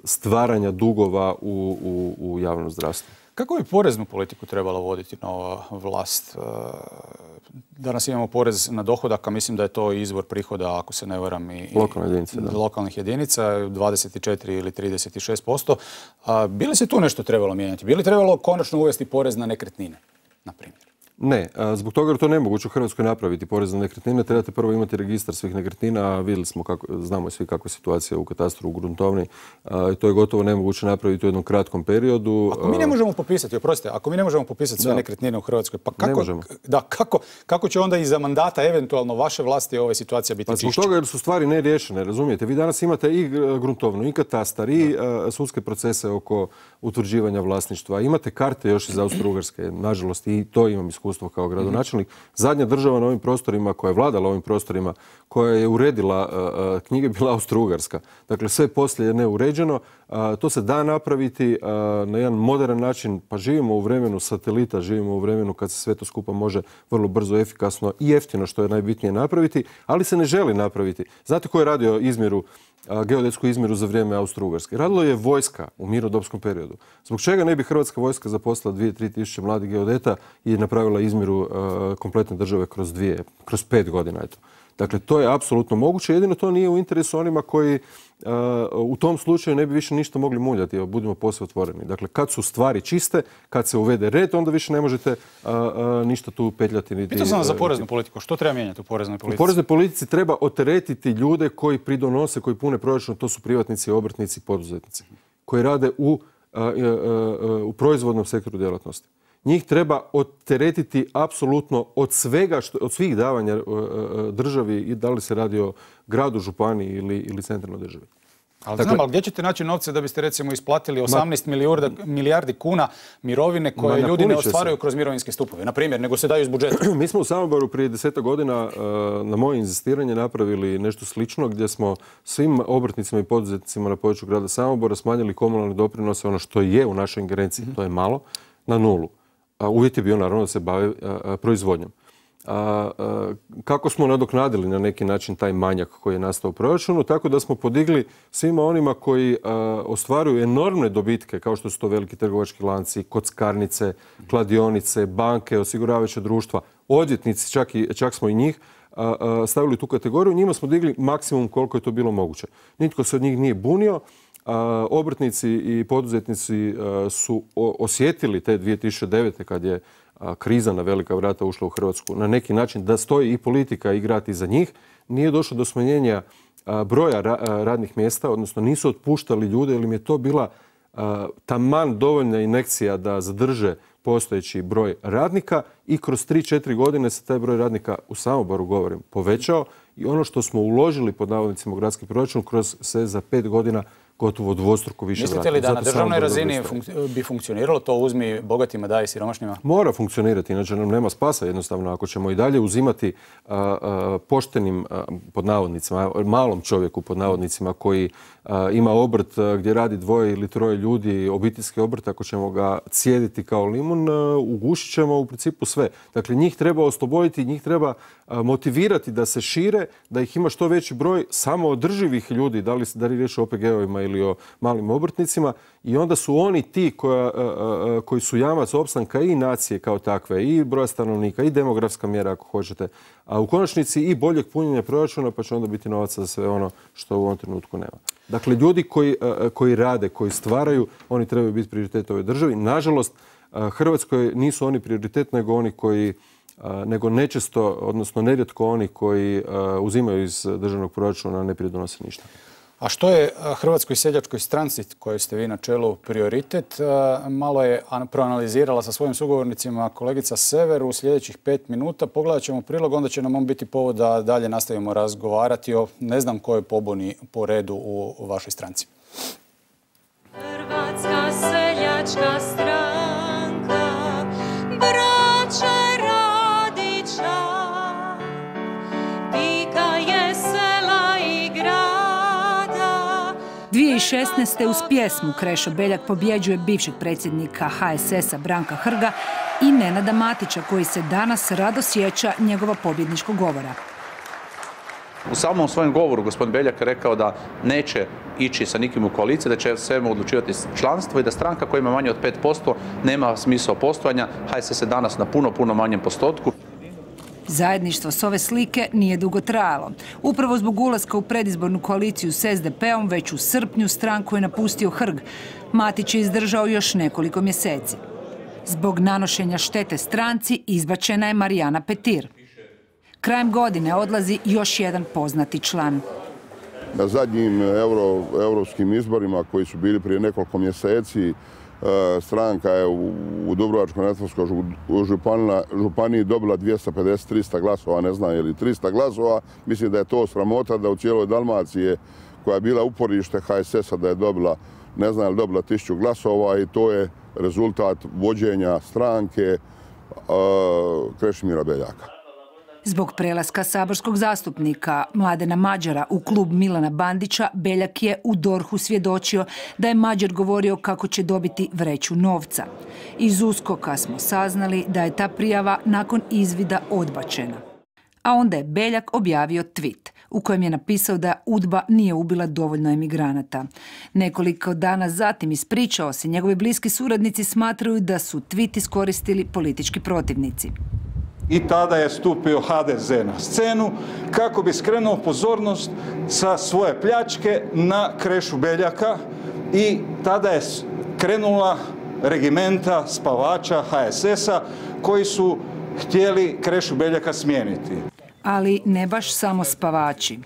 stvaranja dugova u, u, u javnom zdravstvu. Kako bi poreznu politiku trebala voditi nova vlast? Danas imamo porez na dohodak, a mislim da je to izvor prihoda, ako se ne varam, i Lokalne jedinice, da. lokalnih jedinica, dvadeset četiri ili trideset šest posto. Bi li se tu nešto trebalo mijenjati? Bi li trebalo konačno uvesti porez na nekretnine, na primjer? Ne, zbog toga jer to nemoguće u Hrvatskoj napraviti porez na nekretnine. Trebate prvo imati registar svih nekretnina, a vidjeli smo kako, znamo svi kakva je situacija u katastru, u gruntovni. I to je gotovo nemoguće napraviti u jednom kratkom periodu. Ako mi ne možemo popisati, oprostite, ako mi ne možemo popisati sve da. nekretnine u Hrvatskoj, pa kako, da, kako, kako će onda iza mandata eventualno vaše vlasti ove situacija biti čišće? Pa zbog toga jer su stvari neriješene, razumijete? Vi danas imate i gruntovnu, i katastar, i da. sudske procese oko utvrđivanja vlasništva. Imate karte još iz Austro-Ugarske, nažalost, i to imam iskustvo kao gradonačelnik. Zadnja država na ovim prostorima koja je vladala ovim prostorima, koja je uredila uh, knjige, bila Austro-Ugarska. Dakle, sve poslije je neuređeno. Uh, to se da napraviti uh, na jedan modern način. Pa živimo u vremenu satelita, živimo u vremenu kad se sve to skupa može vrlo brzo, efikasno i jeftino, što je najbitnije, napraviti, ali se ne želi napraviti. Znate ko je radio izmjeru, geodetsku izmjeru za vrijeme Austro-Ugarske? Radilo je vojska u mirnodopskom periodu. Zbog čega ne bi Hrvatska vojska zaposlila dvije do tri tisuće mladih geodeta i napravila izmjeru uh, kompletne države kroz dvije, kroz pet godina? Eto. Dakle, to je apsolutno moguće, jedino to nije u interesu onima koji uh, u tom slučaju ne bi više ništa mogli muljati, budimo posve otvoreni. Dakle, kad su stvari čiste, kad se uvede red, onda više ne možete uh, uh, ništa tu petljati. Niti, Pitao sam vas za poreznu politiku. Što treba mijenjati u poreznoj politici? U poreznoj politici treba oteretiti ljude koji pridonose, koji pune proračun, to su privatnici, obrtnici, poduzetnici, koji rade u, uh, uh, uh, u proizvodnom sektoru djelatnosti. Njih treba oteretiti apsolutno od svega, što, od svih davanja državi, i da li se radi o gradu, županiji ili, ili centralnoj državi. Ali dakle, znam, ali gdje ćete naći novce da biste recimo isplatili osamnaest milijardi, milijardi kuna mirovine koje ljudi ne ostvaruju kroz mirovinske stupove, na primjer, nego se daju iz budžeta? Mi smo u Samoboru prije desetak godina na moje inzistiranje napravili nešto slično gdje smo svim obrtnicima i poduzetnicima na području grada Samobora smanjili komunalne doprinose, ono što je u našoj ingerenciji, to je malo, na nulu. Uvjet je bio naravno da se bave proizvodnjom. A, a, kako smo nadoknadili na neki način taj manjak koji je nastao u proračunu, tako da smo podigli svima onima koji a, ostvaruju enormne dobitke, kao što su to veliki trgovački lanci, kockarnice, kladionice, banke, osiguravajuća društva, odvjetnici, čak, i, čak smo i njih a, a, stavili u tu kategoriju. Njima smo digli maksimum koliko je to bilo moguće. Nitko se od njih nije bunio. A, obrtnici i poduzetnici a, su o, osjetili te dvije tisuće devete. kad je a, kriza na velika vrata ušla u Hrvatsku na neki način da stoji i politika i grad iza njih. Nije došlo do smanjenja a, broja ra, a, radnih mjesta, odnosno nisu otpuštali ljude jer im je to bila a, taman dovoljna injekcija da zadrže postojeći broj radnika i kroz tri do četiri godine se taj broj radnika, u Samoboru govorim, povećao i ono što smo uložili pod navodnicima u gradski proračun kroz se za pet godina gotovo dvostruko više vrati. Mislite li da Zato na državnoj razini funk- bi funkcioniralo to uzmi bogatima, daj siromašnima? Mora funkcionirati, inače nam nema spasa jednostavno. Ako ćemo i dalje uzimati a, a, poštenim, a, pod navodnicima, malom čovjeku pod navodnicima koji a, ima obrt a, gdje radi dvoje ili troje ljudi, obiteljski obrt, ako ćemo ga cijediti kao limun, a, ugušit ćemo u principu sve. Dakle, njih treba osloboditi, njih treba a, motivirati da se šire, da ih ima što veći broj samoodrživih ljudi, da li, da li riječ o O P G-ovima ili o malim obrtnicima, i onda su oni ti koja, a, a, koji su jamac opstanka i nacije kao takve, i broja stanovnika, i demografska mjera ako hoćete, a u konačnici i boljeg punjenja proračuna, pa će onda biti novaca za sve ono što u ovom trenutku nema. Dakle, ljudi koji, a, koji rade, koji stvaraju, oni trebaju biti prioritet ove državi. Nažalost, a, Hrvatskoj nisu oni prioritet, nego oni koji a, nego nečesto, odnosno nerijetko oni koji a, uzimaju iz državnog proračuna, ne pridonose ništa. A što je Hrvatskoj seljačkoj stranci, kojoj ste vi na čelu, prioritet? Malo je proanalizirala sa svojim sugovornicima kolegica Sever u sljedećih pet minuta. Pogledat ćemo prilog, onda će nam on biti povod da dalje nastavimo razgovarati o ne znam kojoj pobuni po redu u vašoj stranci. Hrvatska seljačka stranka, braće Radića, pika je sela i grada. dvije tisuće šesnaeste. uz pjesmu Krešo Beljak pobjeđuje bivšeg predsjednika H S S-a Branka Hrga i Nenada Matića, koji se danas rado sjeća njegova pobjedničkog govora. U samom svojem govoru gospodin Beljak je rekao da neće ići sa nikim u koaliciju, da će svemu odlučivati članstvo i da stranka koja ima manje od pet posto nema smisao postojanja. H S S je danas na puno, puno manjem postotku. Zajedništvo s ove slike nije dugo trajalo. Upravo zbog ulaska u predizbornu koaliciju s S D P-om već u srpnju stranku je napustio Hrg. Matić je izdržao još nekoliko mjeseci. Zbog nanošenja štete stranci izbačena je Marijana Petir. Krajem godine odlazi još jedan poznati član. Na zadnjim euro, europskim izborima koji su bili prije nekoliko mjeseci, stranka je u, u Dubrovačko-neretvanskoj županiji dobila dvjesto pedeset do trista glasova, ne znam je li trista glasova. Mislim da je to sramota da u cijeloj Dalmaciji, koja je bila uporište H S S-a, da je dobila, ne znam je li dobila tisuću glasova, i to je rezultat vođenja stranke uh, Krešimira Beljaka. Zbog prelaska saborskog zastupnika Mladena Mađara u klub Milana Bandića, Beljak je u dorhu svjedočio da je Mađar govorio kako će dobiti vreću novca. Iz USKOK-a smo saznali da je ta prijava nakon izvida odbačena. A onda je Beljak objavio tweet u kojem je napisao da UDBA nije ubila dovoljno emigranata. Nekoliko dana zatim ispričao se, njegovi bliski suradnici smatraju da su tweet iskoristili politički protivnici. I tada je stupio H D Z na scenu kako bi skrenuo pozornost sa svoje pljačke na Krešu Beljaka, i tada je krenula regimenta spavača H S S-a koji su htjeli Krešu Beljaka smijeniti. Ali ne baš samo spavači.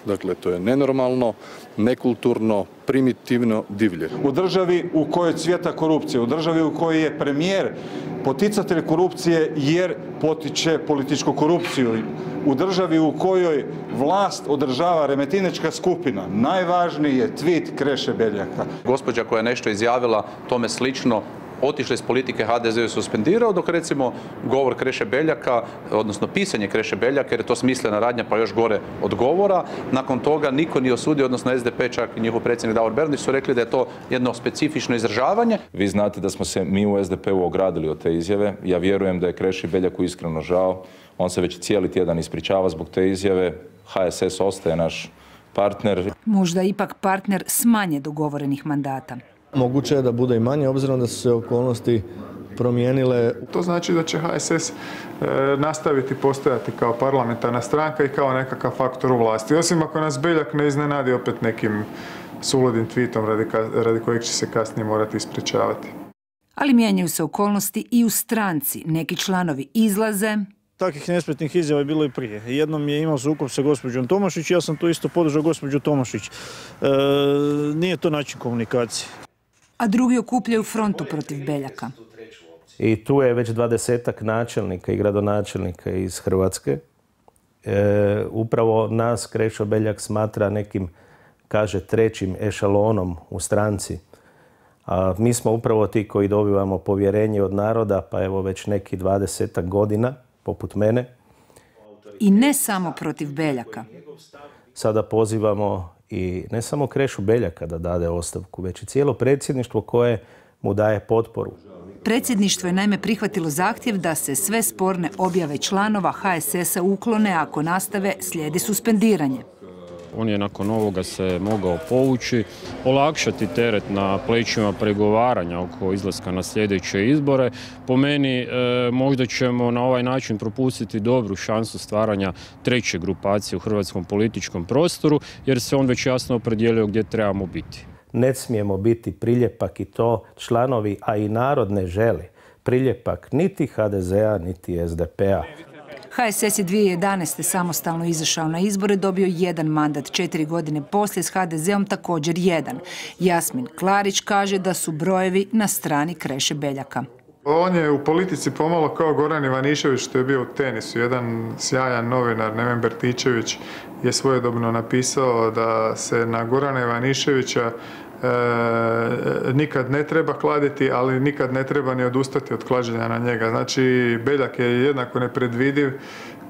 Dakle, to je nenormalno, nekulturno, primitivno, divlje. U državi u kojoj cvjeta korupcija, u državi u kojoj je premijer poticatelj korupcije jer potiče političku korupciju, u državi u kojoj vlast održava remetinečka skupina, najvažniji je tweet Kreše Beljaka. Gospođa koja je nešto izjavila tome slično, otišla iz politike, H D Z ju suspendirao, dok recimo govor Kreše Beljaka, odnosno pisanje Kreše Beljaka, jer je to smislena radnja pa još gore od govora, nakon toga niko nije osudio, odnosno S D P, čak i njihov predsjednik Davor Bernardić su rekli da je to jedno specifično izražavanje. Vi znate da smo se mi u S D P-u ogradili od te izjave. Ja vjerujem da je Kreši Beljaku iskreno žao. On se već cijeli tjedan ispričava zbog te izjave. H S S ostaje naš partner. Možda ipak partner s manje dogovorenih mandata. Moguće je da bude i manje, obzirom da su se okolnosti promijenile. To znači da će H S S e, nastaviti postojati kao parlamentarna stranka i kao nekakav faktor u vlasti. Osim ako nas Beljak ne iznenadi opet nekim suludim tweetom radi, radi kojeg će se kasnije morati ispričavati. Ali mijenjaju se okolnosti i u stranci. Neki članovi izlaze. Takvih nespretnih izjava je bilo i prije. Jednom je imao sukob sa gospođom Tomašić, ja sam to isto podržao gospođu Tomašić. E, nije to način komunikacije. A drugi okupljaju frontu protiv Beljaka. I tu je već dvadesetak načelnika i gradonačelnika iz Hrvatske. E, upravo nas Krešo Beljak smatra nekim, kaže, trećim ešalonom u stranci. A mi smo upravo ti koji dobivamo povjerenje od naroda, pa evo već neki dvadesetak godina, poput mene. I ne samo protiv Beljaka. Sada pozivamo i ne samo Krešu Beljaka da dade ostavku, već i cijelo predsjedništvo koje mu daje potporu. Predsjedništvo je naime prihvatilo zahtjev da se sve sporne objave članova H S S-a uklone, ako nastave slijedi suspendiranje. On je nakon ovoga se mogao povući, olakšati teret na plećima pregovaranja oko izlaska na sljedeće izbore. Po meni e, možda ćemo na ovaj način propustiti dobru šansu stvaranja treće grupacije u hrvatskom političkom prostoru, jer se on već jasno opredijelio gdje trebamo biti. Ne smijemo biti priljepak, i to članovi, a i narod ne želi priljepak niti H D Z-a, niti S D P-a. H S S je dvije tisuće jedanaeste. samostalno izašao na izbore, dobio jedan mandat. Četiri godine poslije s H D Z-om također jedan. Jasmin Klarić kaže da su brojevi na strani Kreše Beljaka. On je u politici pomalo kao Goran Ivanišević što je bio u tenisu. Jedan sjajan novinar, Neven Bertičević, je svojedobno napisao da se na Gorana Ivaniševića e, nikad ne treba kladiti, ali nikad ne treba ni odustati od klađenja na njega. Znači, Beljak je jednako nepredvidiv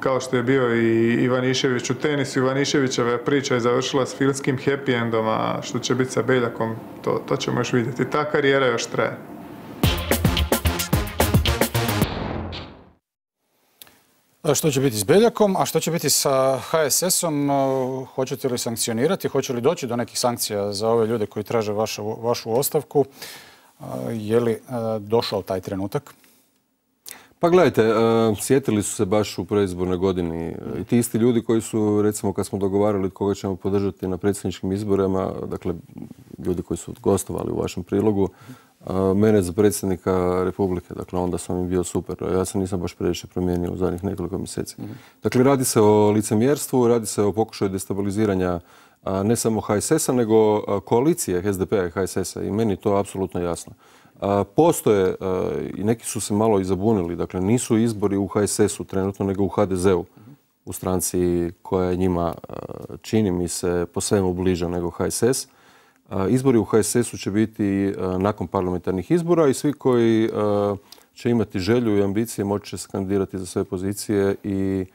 kao što je bio i Ivanišević u tenisu. Ivaniševićeva priča je završila s filmskim happy endom, a što će biti sa Beljakom, to, to ćemo još vidjeti. Ta karijera još traje. Što će biti s Beljakom, a što će biti sa H S S-om? Hoćete li sankcionirati? Hoće li doći do nekih sankcija za ove ljude koji traže vašu, vašu ostavku? Je li došao taj trenutak? Pa gledajte, sjetili su se baš u predizbornoj godini i ti isti ljudi koji su, recimo, kad smo dogovarali koga ćemo podržati na predsjedničkim izborima, dakle, ljudi koji su gostovali u vašem prilogu, mene za predsjednika Republike, dakle onda sam im bio super. Ja se nisam baš previše promijenio u zadnjih nekoliko mjeseci. Dakle, radi se o licemjerstvu, radi se o pokušaju destabiliziranja ne samo H S S-a, nego koalicije S D P-a i H S S-a i meni je to apsolutno jasno. Postoje, i neki su se malo i zabunili, dakle nisu izbori u H S S-u trenutno, nego u H D Z-u, u stranci koja je njima, čini mi se, po svemu bliža nego H S S. Izbori u H S S-u će biti nakon parlamentarnih izbora i svi koji će imati želju i ambicije moći će se kandidirati za sve pozicije i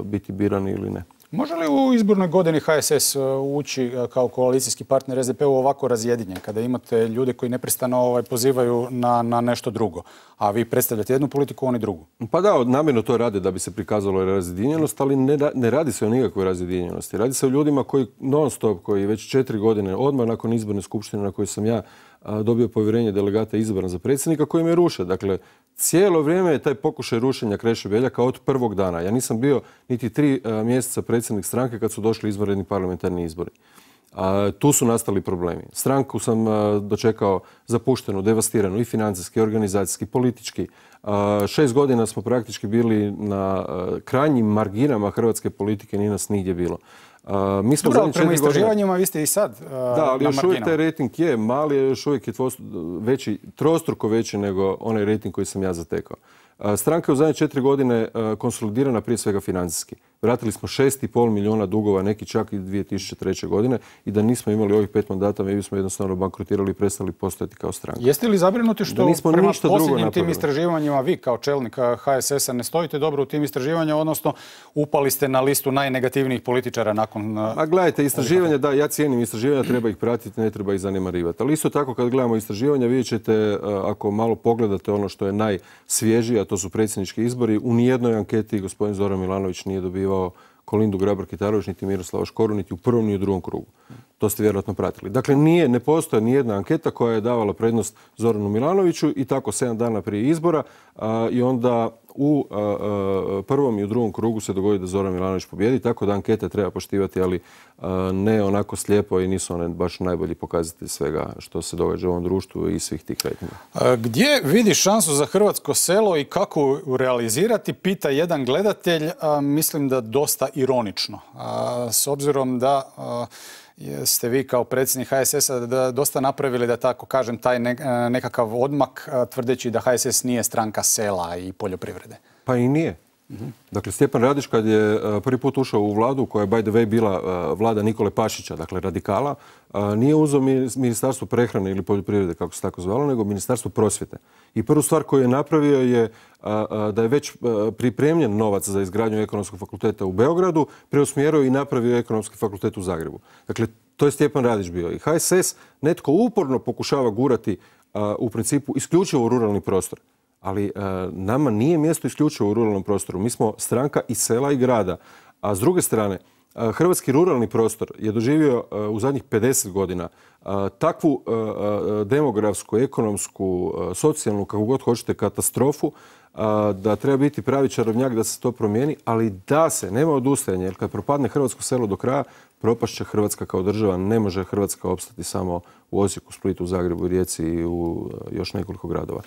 biti birani ili ne. Može li u izbornoj godini H S S ući kao koalicijski partner S D P-u ovako razjedinjen, kada imate ljude koji neprestano ovaj, pozivaju na, na nešto drugo, a vi predstavljate jednu politiku, oni drugu? Pa da, namjerno to rade da bi se prikazalo razjedinjenost, ali ne, ne radi se o nikakvoj razjedinjenosti. Radi se o ljudima koji non stop, koji već četiri godine, odmah nakon izborne skupštine na kojoj sam ja dobio povjerenje delegata izabran za predsjednika, koji me ruše. Dakle, cijelo vrijeme je taj pokušaj rušenja Kreše Beljaka od prvog dana. Ja nisam bio niti tri mjeseca predsjednik stranke kad su došli izvanredni parlamentarni izbori. A, tu su nastali problemi. Stranku sam a, dočekao zapuštenu, devastiranu i financijski, i organizacijski, politički. A, šest godina smo praktički bili na a, krajnjim marginama hrvatske politike, nije nas nigdje bilo. Uh, mi smo Dobro, ali prema istraživanjima godine... vi ste i sad uh, Da, ali još uvijek taj rating je mali, još uvijek je veći, trostruko veći nego onaj rating koji sam ja zatekao. Uh, stranka je u zadnje četiri godine uh, konsolidirana prije svega financijski. Vratili smo šest i pol milijuna dugova, neki čak i dvije tisuće treće godine i da nismo imali ovih pet mandata, mi bismo jednostavno bankrotirali i prestali postojati kao stranka. Jeste li zabrinuti što prema posljednjim tim istraživanjima vi kao čelnik H S S-a ne stojite dobro u tim istraživanjima, odnosno upali ste na listu najnegativnijih političara nakon... A gledajte, istraživanja, da, ja cijenim istraživanja, treba ih pratiti, ne treba ih zanemarivati. Ali isto tako kad gledamo istraživanja, vidjet ćete, ako malo pogledate ono što je najsvježije, a to su predsjednički izbori, u nijednoj anketi gospodin Zoran Milanović nije dobivao Kolindu Grabar-Kitarović, niti Miroslava Škoru, niti u prvom, ni u drugom krugu. To ste vjerojatno pratili. Dakle, nije, ne postoje ni jedna anketa koja je davala prednost Zoranu Milanoviću i tako sedam dana prije izbora a, i onda u a, a, prvom i u drugom krugu se dogodi da Zoran Milanović pobjedi, tako da ankete treba poštivati, ali a, ne onako slijepo i nisu one baš najbolji pokazatelj svega što se događa u ovom društvu i svih tih kretanja. Gdje vidi šansu za hrvatsko selo i kako realizirati, pita jedan gledatelj, a, mislim da dosta ironično. A, s obzirom da a, ste vi kao predsjednik H S S-a dosta napravili, da tako kažem, taj nekakav odmak, tvrdeći da H S S nije stranka sela i poljoprivrede. Pa i nije. Mm-hmm. Dakle, Stjepan Radić kad je prvi put ušao u vladu, koja je by the way bila vlada Nikole Pašića, dakle radikala, nije uzeo ministarstvo prehrane ili poljoprivrede, kako se tako zvalo, nego ministarstvo prosvjete. I prvu stvar koju je napravio je da je već pripremljen novac za izgradnju ekonomskog fakulteta u Beogradu, preusmjerio i napravio ekonomski fakultet u Zagrebu. Dakle, to je Stjepan Radić bio. I H S S netko uporno pokušava gurati u principu isključivo u ruralni prostor. Ali nama nije mjesto isključivo u ruralnom prostoru. Mi smo stranka i sela i grada. A s druge strane, hrvatski ruralni prostor je doživio u zadnjih pedeset godina takvu demografsku, ekonomsku, socijalnu, kako god hoćete, katastrofu, da treba biti pravi čarobnjak da se to promijeni, ali da se, nema odustajanja, jer kad propadne hrvatsko selo do kraja, propašće Hrvatska kao država, ne može Hrvatska opstati samo u Osijeku, Splitu, u Zagrebu, Rijeci i u još nekoliko gradova.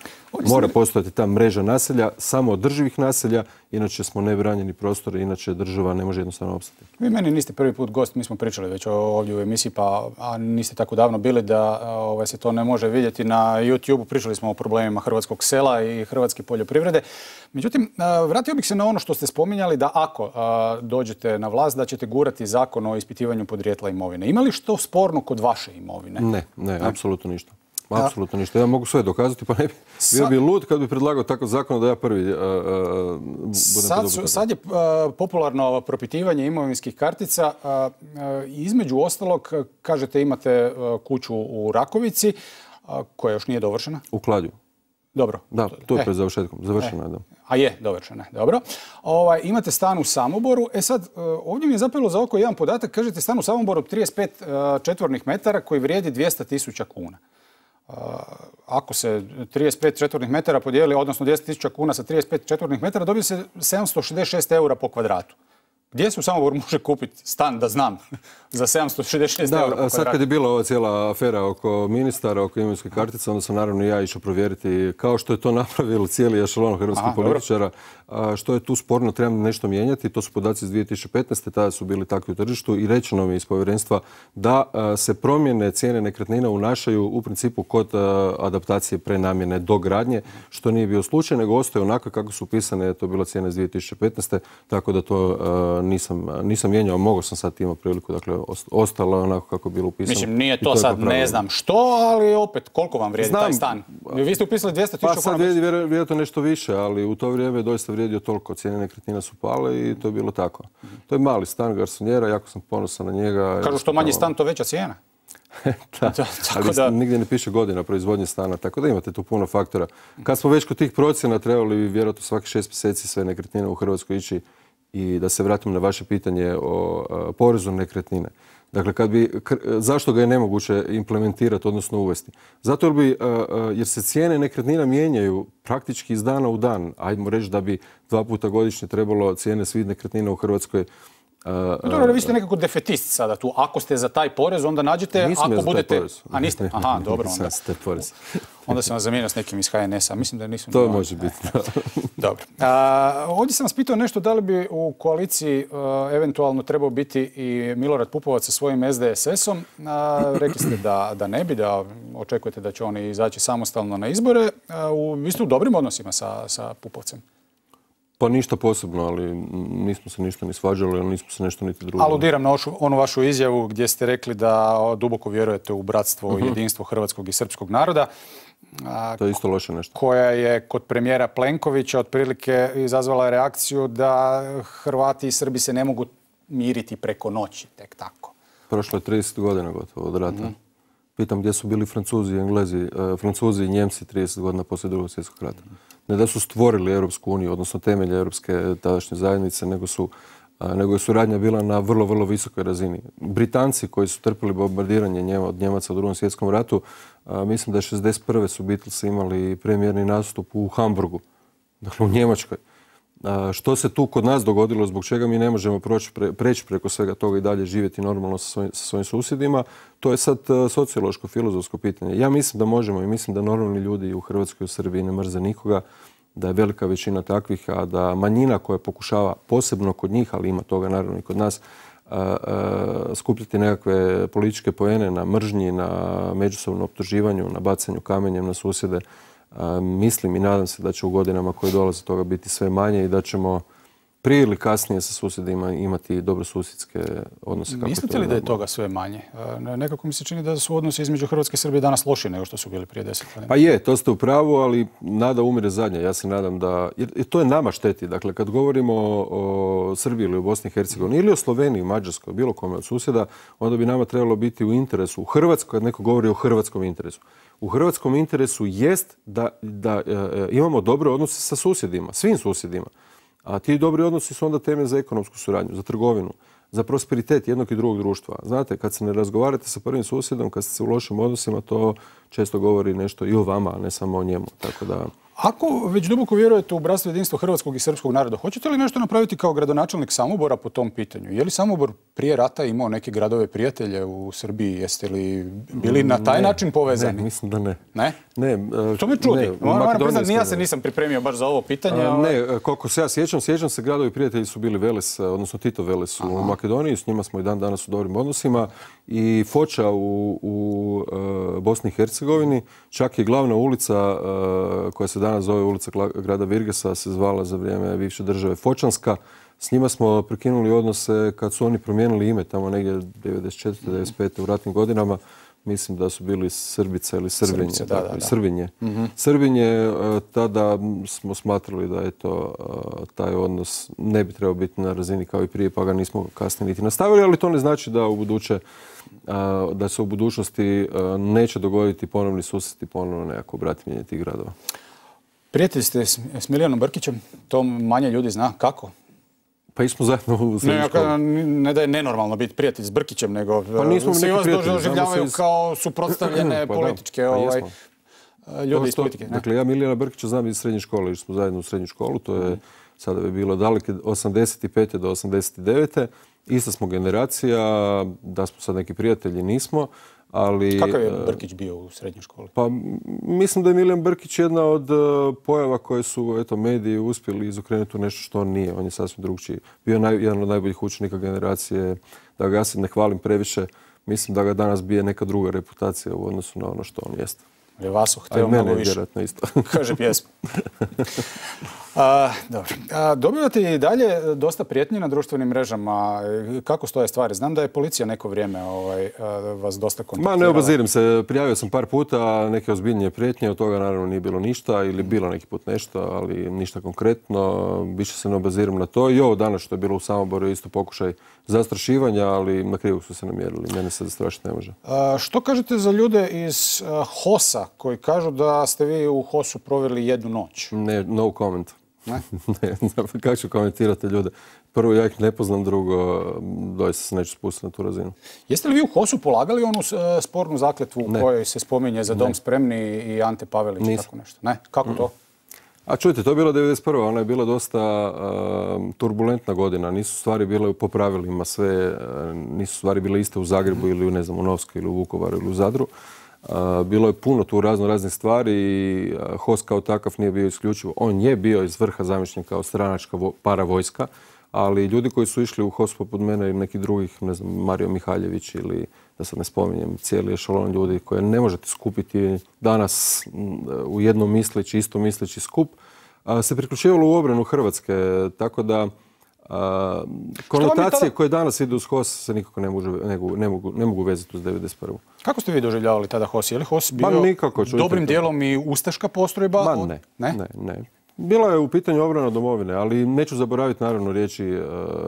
Mora postojati ta mreža naselja, samo održivih naselja, inače smo nebranjeni prostor, inače država ne može jednostavno opstati. Vi meni niste prvi put gost, mi smo pričali već ovdje u emisiji, pa a niste tako davno bili da ovaj, se to ne može vidjeti na YouTube. Pričali smo o problemima hrvatskog sela i hrvatske poljoprivrede. Međutim, vratio bih se na ono što ste spominjali da ako a, dođete na vlast da ćete gurati zakon o ispitivanju podrijetla imovine. Ima li što sporno kod vaše imovine? Ne, ne, apsolutno ništa. Apsolutno ništa. Ja mogu sve dokazati, pa ne bi bio bi lud kad bi predlagao takav zakon da ja prvi uh, uh, budem sad, su, sad je uh, popularno propitivanje imovinskih kartica. Uh, uh, između ostalog, kažete imate uh, kuću u Rakovici, uh, koja još nije dovršena. U Kladju. Dobro. Da, to je e. pred završetkom. Završena je, da. A je, dovršena je, dobro. Ovaj, imate stan u Samoboru. E sad, ovdje mi je zapelo za oko jedan podatak. Kažete stan u Samoboru trideset pet uh, četvornih metara koji vrijedi dvjesto tisuća kuna. Uh, ako se trideset pet četvornih metara podijeli, odnosno dvjesto tisuća kuna sa trideset pet četvornih metara, dobije se sedamsto šezdeset šest eura po kvadratu. Gdje se u Samoboru može kupiti stan, da znam, za sedamsto šezdeset šest eura po kvadratu? Sad kad je bila ova cijela afera oko ministara, oko imovinske kartice, onda sam naravno i ja išao provjeriti, kao što je to napravilo cijeli ešalon hrvatskih političara, što je tu sporno, trebamo nešto mijenjati. To su podaci iz dvije tisuće petnaeste. Tada su bili takvi u tržištu i rečeno mi iz povjerenstva da se promjene cijene nekretnina unašaju u principu kod adaptacije prenamjene do gradnje, što nije bio slučaj, nego ostaje onako kako su upisane, to je bila cijena iz dvije tisuće petnaeste. Tako da to nisam, nisam mijenjao, mogao sam sad imati priliku, dakle ostalo je onako kako je bilo upisano. Mislim, nije to, to sad ne znam što, ali opet koliko vam vrijedi znam, taj stan? Vi ste upisali dvjesto tisuća kuna. Pa sad vrijedi vjerojatno nešto više, ali u to vrijeme je doista vrijedio toliko, cijene nekretnina su pale i to je bilo tako. To je mali stan garsonjera, jako sam ponosan na njega. Kažu što manji stan, to veća cijena. Da, ali da... nigdje ne piše godina proizvodnje stana, tako da imate tu puno faktora. Kad smo već kod tih procjena, trebali bi vjerojatno svaki šest mjeseci sve nekretnine u Hrvatskoj ići. I da se vratim na vaše pitanje o uh, porezu na nekretnine. Dakle, kad bi, zašto ga je nemoguće implementirati, odnosno uvesti? Zato jer, bi, uh, uh, jer se cijene nekretnina mijenjaju praktički iz dana u dan. Ajdemo reći da bi dva puta godišnje trebalo cijene svih nekretnina u Hrvatskoj. Uh, dobro, vi ste nekako defetist sada tu. Ako ste za taj porez, onda nađete, nisam ako ja budete... Porez. A niste? Aha, dobro. Onda, porez. onda sam vas zamijenio s nekim iz H N S-a. Mislim da nisam... To može biti. Dobro. A, ovdje sam vas pitao nešto da li bi u koaliciji a, eventualno trebao biti i Milorad Pupovac sa svojim S D S S-om. A, rekli ste da, da ne bi, da očekujete da će oni izaći samostalno na izbore. A, u, vi ste u dobrim odnosima sa, sa Pupovcem. Pa ništa posebno, ali nismo se ništa ni svađali, ali nismo se nešto niti drugo. Aludiram na ošu, onu vašu izjavu gdje ste rekli da duboko vjerujete u bratstvo i jedinstvo hrvatskog i srpskog naroda. A, to je isto loše nešto. Koja je kod premijera Plenkovića otprilike izazvala reakciju da Hrvati i Srbi se ne mogu miriti preko noći, tek tako. Prošlo je trideset godina gotovo od rata. Mm-hmm. Pitam gdje su bili Francuzi i Englezi, uh, Francuzi i Njemci trideset godina poslije drugog svjetskog rata. Ne da su stvorili Europsku uniju, odnosno temelje Europske tadašnje zajednice, nego su uh, nego je suradnja bila na vrlo, vrlo visokoj razini. Britanci koji su trpili bombardiranje njema, od Njemaca u drugom svjetskom ratu, uh, mislim da je šezdeset prve su Beatlesi imali premijerni nastup u Hamburgu, dakle u Njemačkoj. Što se tu kod nas dogodilo, zbog čega mi ne možemo proći, pre, preći preko svega toga i dalje živjeti normalno sa svojim, sa svojim susjedima, to je sad sociološko, filozofsko pitanje. Ja mislim da možemo i mislim da normalni ljudi u Hrvatskoj i u Srbiji ne mrze nikoga, da je velika većina takvih, a da manjina koja pokušava, posebno kod njih, ali ima toga naravno i kod nas, a, a, skupljati nekakve političke poene na mržnji, na međusobnom optuživanju, na bacanju kamenjem na susjede. A, mislim i nadam se da će u godinama koje dolaze toga biti sve manje i da ćemo prije ili kasnije sa susjedima imati dobrosusjedske odnose. Mislite li da je toga sve manje? Nekako mi se čini da su odnosi između Hrvatske i Srbije danas lošiji nego što su bili prije deset godina. Pa je, to ste u pravu, ali nada umire zadnja. Ja se nadam da... Jer to je nama šteti. Dakle, kad govorimo o, o Srbiji ili o Bosni i Hercegovini ili o Sloveniji, Mađarskoj, bilo kome od susjeda, onda bi nama trebalo biti u interesu. U Hrvatskoj, kad neko govori o hrvatskom interesu, u hrvatskom interesu jest da, da e, imamo dobre odnose sa susjedima, svim susjedima. A ti dobri odnosi su onda temelj za ekonomsku suradnju, za trgovinu, za prosperitet jednog i drugog društva. Znate, kad se ne razgovarate sa prvim susjedom, kad ste se u lošim odnosima, to često govori nešto i o vama, a ne samo o njemu. Tako da... Ako već duboko vjerujete u bratstvo i jedinstvo hrvatskog i srpskog naroda, hoćete li nešto napraviti kao gradonačelnik Samobora po tom pitanju? Je li Samobor prije rata imao neke gradove prijatelje u Srbiji? Jeste li bili na taj Ne, način povezani? Ne, mislim da ne. Ne? Ne, To me čudi. ne, u Moram Makedoniji priznati, ni ja smo- se nisam pripremio baš za ovo pitanje. A, ali- Ne, koliko se ja sjećam, sjećam se gradovi prijatelji su bili Veles, odnosno Tito Veles u Makedoniji, s njima smo i dan danas u dobrim odnosima i Foča u, u e, Bosni i Hercegovini, čak i glavna ulica e, koja se danas zove ulica Gla- grada Virgesa se zvala za vrijeme bivše države Fočanska. S njima smo prekinuli odnose kad su oni promijenili ime tamo negdje devedeset četvrte devedeset pete u ratnim godinama. Mislim da su bili Srbica ili Srbinje. Srbice, da, dakle, da, da. Srbinje. Mhm. Srbinje, e, tada smo smatrali da eto, e, taj odnos ne bi trebao biti na razini kao i prije, pa ga nismo kasnije niti nastavili, ali to ne znači da u buduće, e, da se u budućnosti e, neće dogoditi ponovni susreti, ponovno nekako bratimljenje tih gradova. Prijatelj ste s s Milijanom Brkićem, to manje ljudi zna. Kako? Pa išli smo zajedno u Ne, srednju ja školu. kažem, ne da je nenormalno biti prijatelj s Brkićem, nego Pa nismo mi svi neki vas prijatelji, doživljavaju znamo se iz- kao suprotstavljene Pa da, političke pa ovaj, jesmo. ljudi Dobro iz što- politike. ne? Dakle, ja Milijana Brkića znam iz srednje škole, išli smo zajedno u srednju školu, to je sada bi bilo daleke osamdeset pete do osamdeset devete Ista smo generacija, da smo sad neki prijatelji nismo, ali... Kakav je e, Brkić bio u srednjoj školi? Pa m, mislim da je Milijan Brkić jedna od e, pojava koje su eto, mediji uspjeli izokrenuti u nešto što on nije. On je sasvim drugčiji. Bio naj, jedan od najboljih učenika generacije, da ga ja sad ne hvalim previše. Mislim da ga danas bije neka druga reputacija u odnosu na ono što on jeste. Je Vaso A i hteo mene mnogo više. vjerojatno isto. Kaže pjesma. A, dobro. A, dobivate i dalje dosta prijetnji na društvenim mrežama. Kako stoje stvari? Znam da je policija neko vrijeme ovaj, a, vas dosta kontaktirala. Ma ne obazirim se, prijavio sam par puta neke ozbiljnije prijetnje, od toga naravno nije bilo ništa ili bilo neki put nešto, ali ništa konkretno. Više se ne obaziram na to. I ovo danas što je bilo u Samoboru je isto pokušaj zastrašivanja, ali na krivog su se namjerili. Mene se zastrašiti ne može. A, što kažete za ljude iz a, Hosa koji kažu da ste vi u Hosu proveli jednu noć? Ne, no comment. Ne? Ne, kako ću komentirati ljude? Prvo, ja ih ne poznam, drugo, doista se neću spustiti na tu razinu. Jeste li vi u Hosu polagali onu e, spornu zakletvu u Ne. kojoj se spominje za Dom Ne. spremni i Ante Pavelić i Nisam. tako nešto? Ne? Kako to? A čujte, to je bila devedeset prva Ona je bila dosta uh, turbulentna godina. Nisu stvari bile po pravilima sve, uh, nisu stvari bile iste u Zagrebu ili u, ne znam, u Novskoj ili u Vukovaru ili u Zadru. Uh, bilo je puno tu razno raznih stvari i uh, H O S kao takav nije bio isključivo. On je bio iz vrha zamišljen kao stranačka vo- paravojska, ali ljudi koji su išli u H O S poput mene i nekih drugih, ne znam, Mario Mihaljević ili da sad ne spominjem, cijeli ešalon ljudi koje ne možete skupiti danas m, u jednom misleći, isto misleći skup, a, se priključivalo u obranu Hrvatske. Tako da a, konotacije tada- koje danas idu uz H O S se nikako ne, može, ne, mogu, ne, mogu, ne mogu vezati uz devedeset prvu Kako ste vi doživljavali tada H O S? Je li H O S bio Ma nikako, čujte dobrim to. dijelom i ustaška postrojba? Ma ne, ne, ne. Bila je u pitanju obrana domovine, ali neću zaboraviti naravno riječi uh,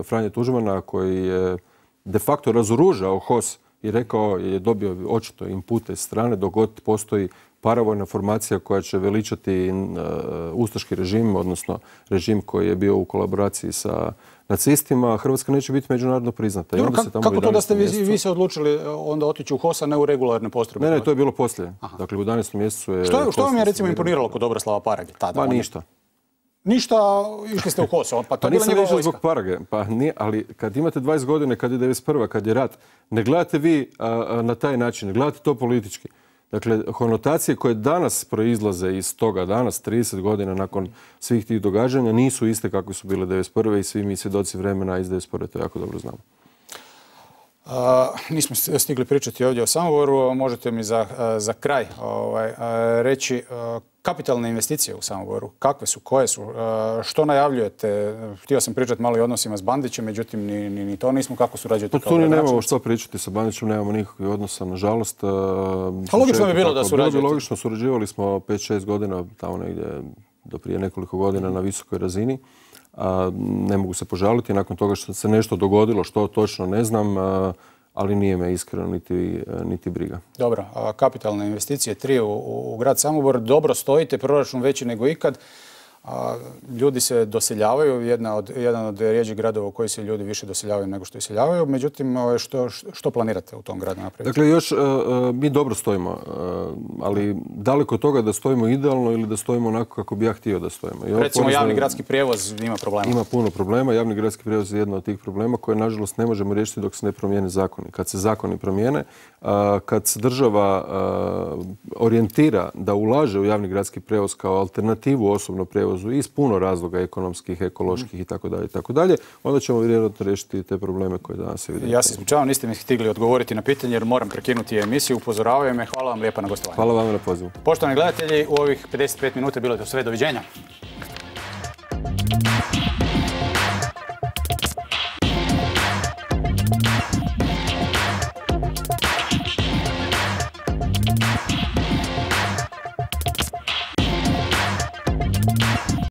Franje Tuđmana koji je de facto razoružao H O S i rekao je dobio očito inpute s strane dok god postoji paravojna formacija koja će veličati uh, ustaški režim, odnosno režim koji je bio u kolaboraciji sa nacistima, Hrvatska neće biti međunarodno priznata. I Dobro, onda kako, se tamo kako u to da ste vi, jedanaestom vi se odlučili onda otići u H O S, a ne u regularne postrojbe? Ne, ne, to je bilo poslije. Dakle, u jedanaestom mjesecu je... Što, je- što vam je H O S recimo imponiralo kod Dobroslava Parage tada? Ma On je- ništa. Ništa, išli ste u H O S, pa to Pa je bila nisam njegova išao vojska. zbog Parage, pa nije, ali kad imate dvadeset godine, kad je devedeset prva kad je rat, ne gledate vi a, a, na taj način, ne gledate to politički. Dakle, konotacije koje danas proizlaze iz toga, danas, trideset godina nakon svih tih događanja, nisu iste kakve su bile devedeset prve i svi mi svjedoci vremena iz devedeset prve to jako dobro znamo. Uh, nismo s- stigli pričati ovdje o Samoboru, možete mi za, uh, za kraj ovaj, uh, reći uh, kapitalne investicije u Samoboru. Kakve su, koje su, uh, što najavljujete? Htio sam pričati malo i o odnosima s Bandićem, međutim ni, ni, ni to nismo. Kako surađujete Pa kao tu ni nemamo gradonačelnici? što pričati sa Bandićem, nemamo nikakvih odnosa, nažalost. A logično bi bilo da surađujete. Bilo bi logično, surađivali smo pet šest godina, tamo negdje do prije nekoliko godina na visokoj razini. A, ne mogu se požaliti, nakon toga što se nešto dogodilo, što točno ne znam, a, ali nije me iskreno niti, niti briga. Dobro, a kapitalne investicije, tri u, u, u grad Samobor, dobro stojite, proračun veći nego ikad. Ljudi se doseljavaju, jedna od, jedan od rijeđih gradova u koji se ljudi više doseljavaju nego što iseljavaju. Međutim, što, što planirate u tom gradu napraviti? Dakle, još mi dobro stojimo, ali daleko od toga da stojimo idealno ili da stojimo onako kako bi ja htio da stojimo. I recimo javni gradski prijevoz ima problema. Ima puno problema. Javni gradski prijevoz je jedno od tih problema koje, nažalost, ne možemo riješiti dok se ne promijene zakoni. Kad se zakoni promijene, kad se država orijentira da ulaže u javni gradski prijevoz kao alternativu osobnom prijevozu iz puno razloga ekonomskih, ekoloških i tako dalje i tako dalje, onda ćemo vjerojatno riješiti te probleme koje danas vidimo. Ja se ispričavam, niste mi stigli odgovoriti na pitanje jer moram prekinuti emisiju. Upozoravaju me. Hvala vam lijepa na gostovanju. Hvala vam na pozivu. Poštovani gledatelji, u ovih pedeset pet minuta je bilo to sve. Doviđenja.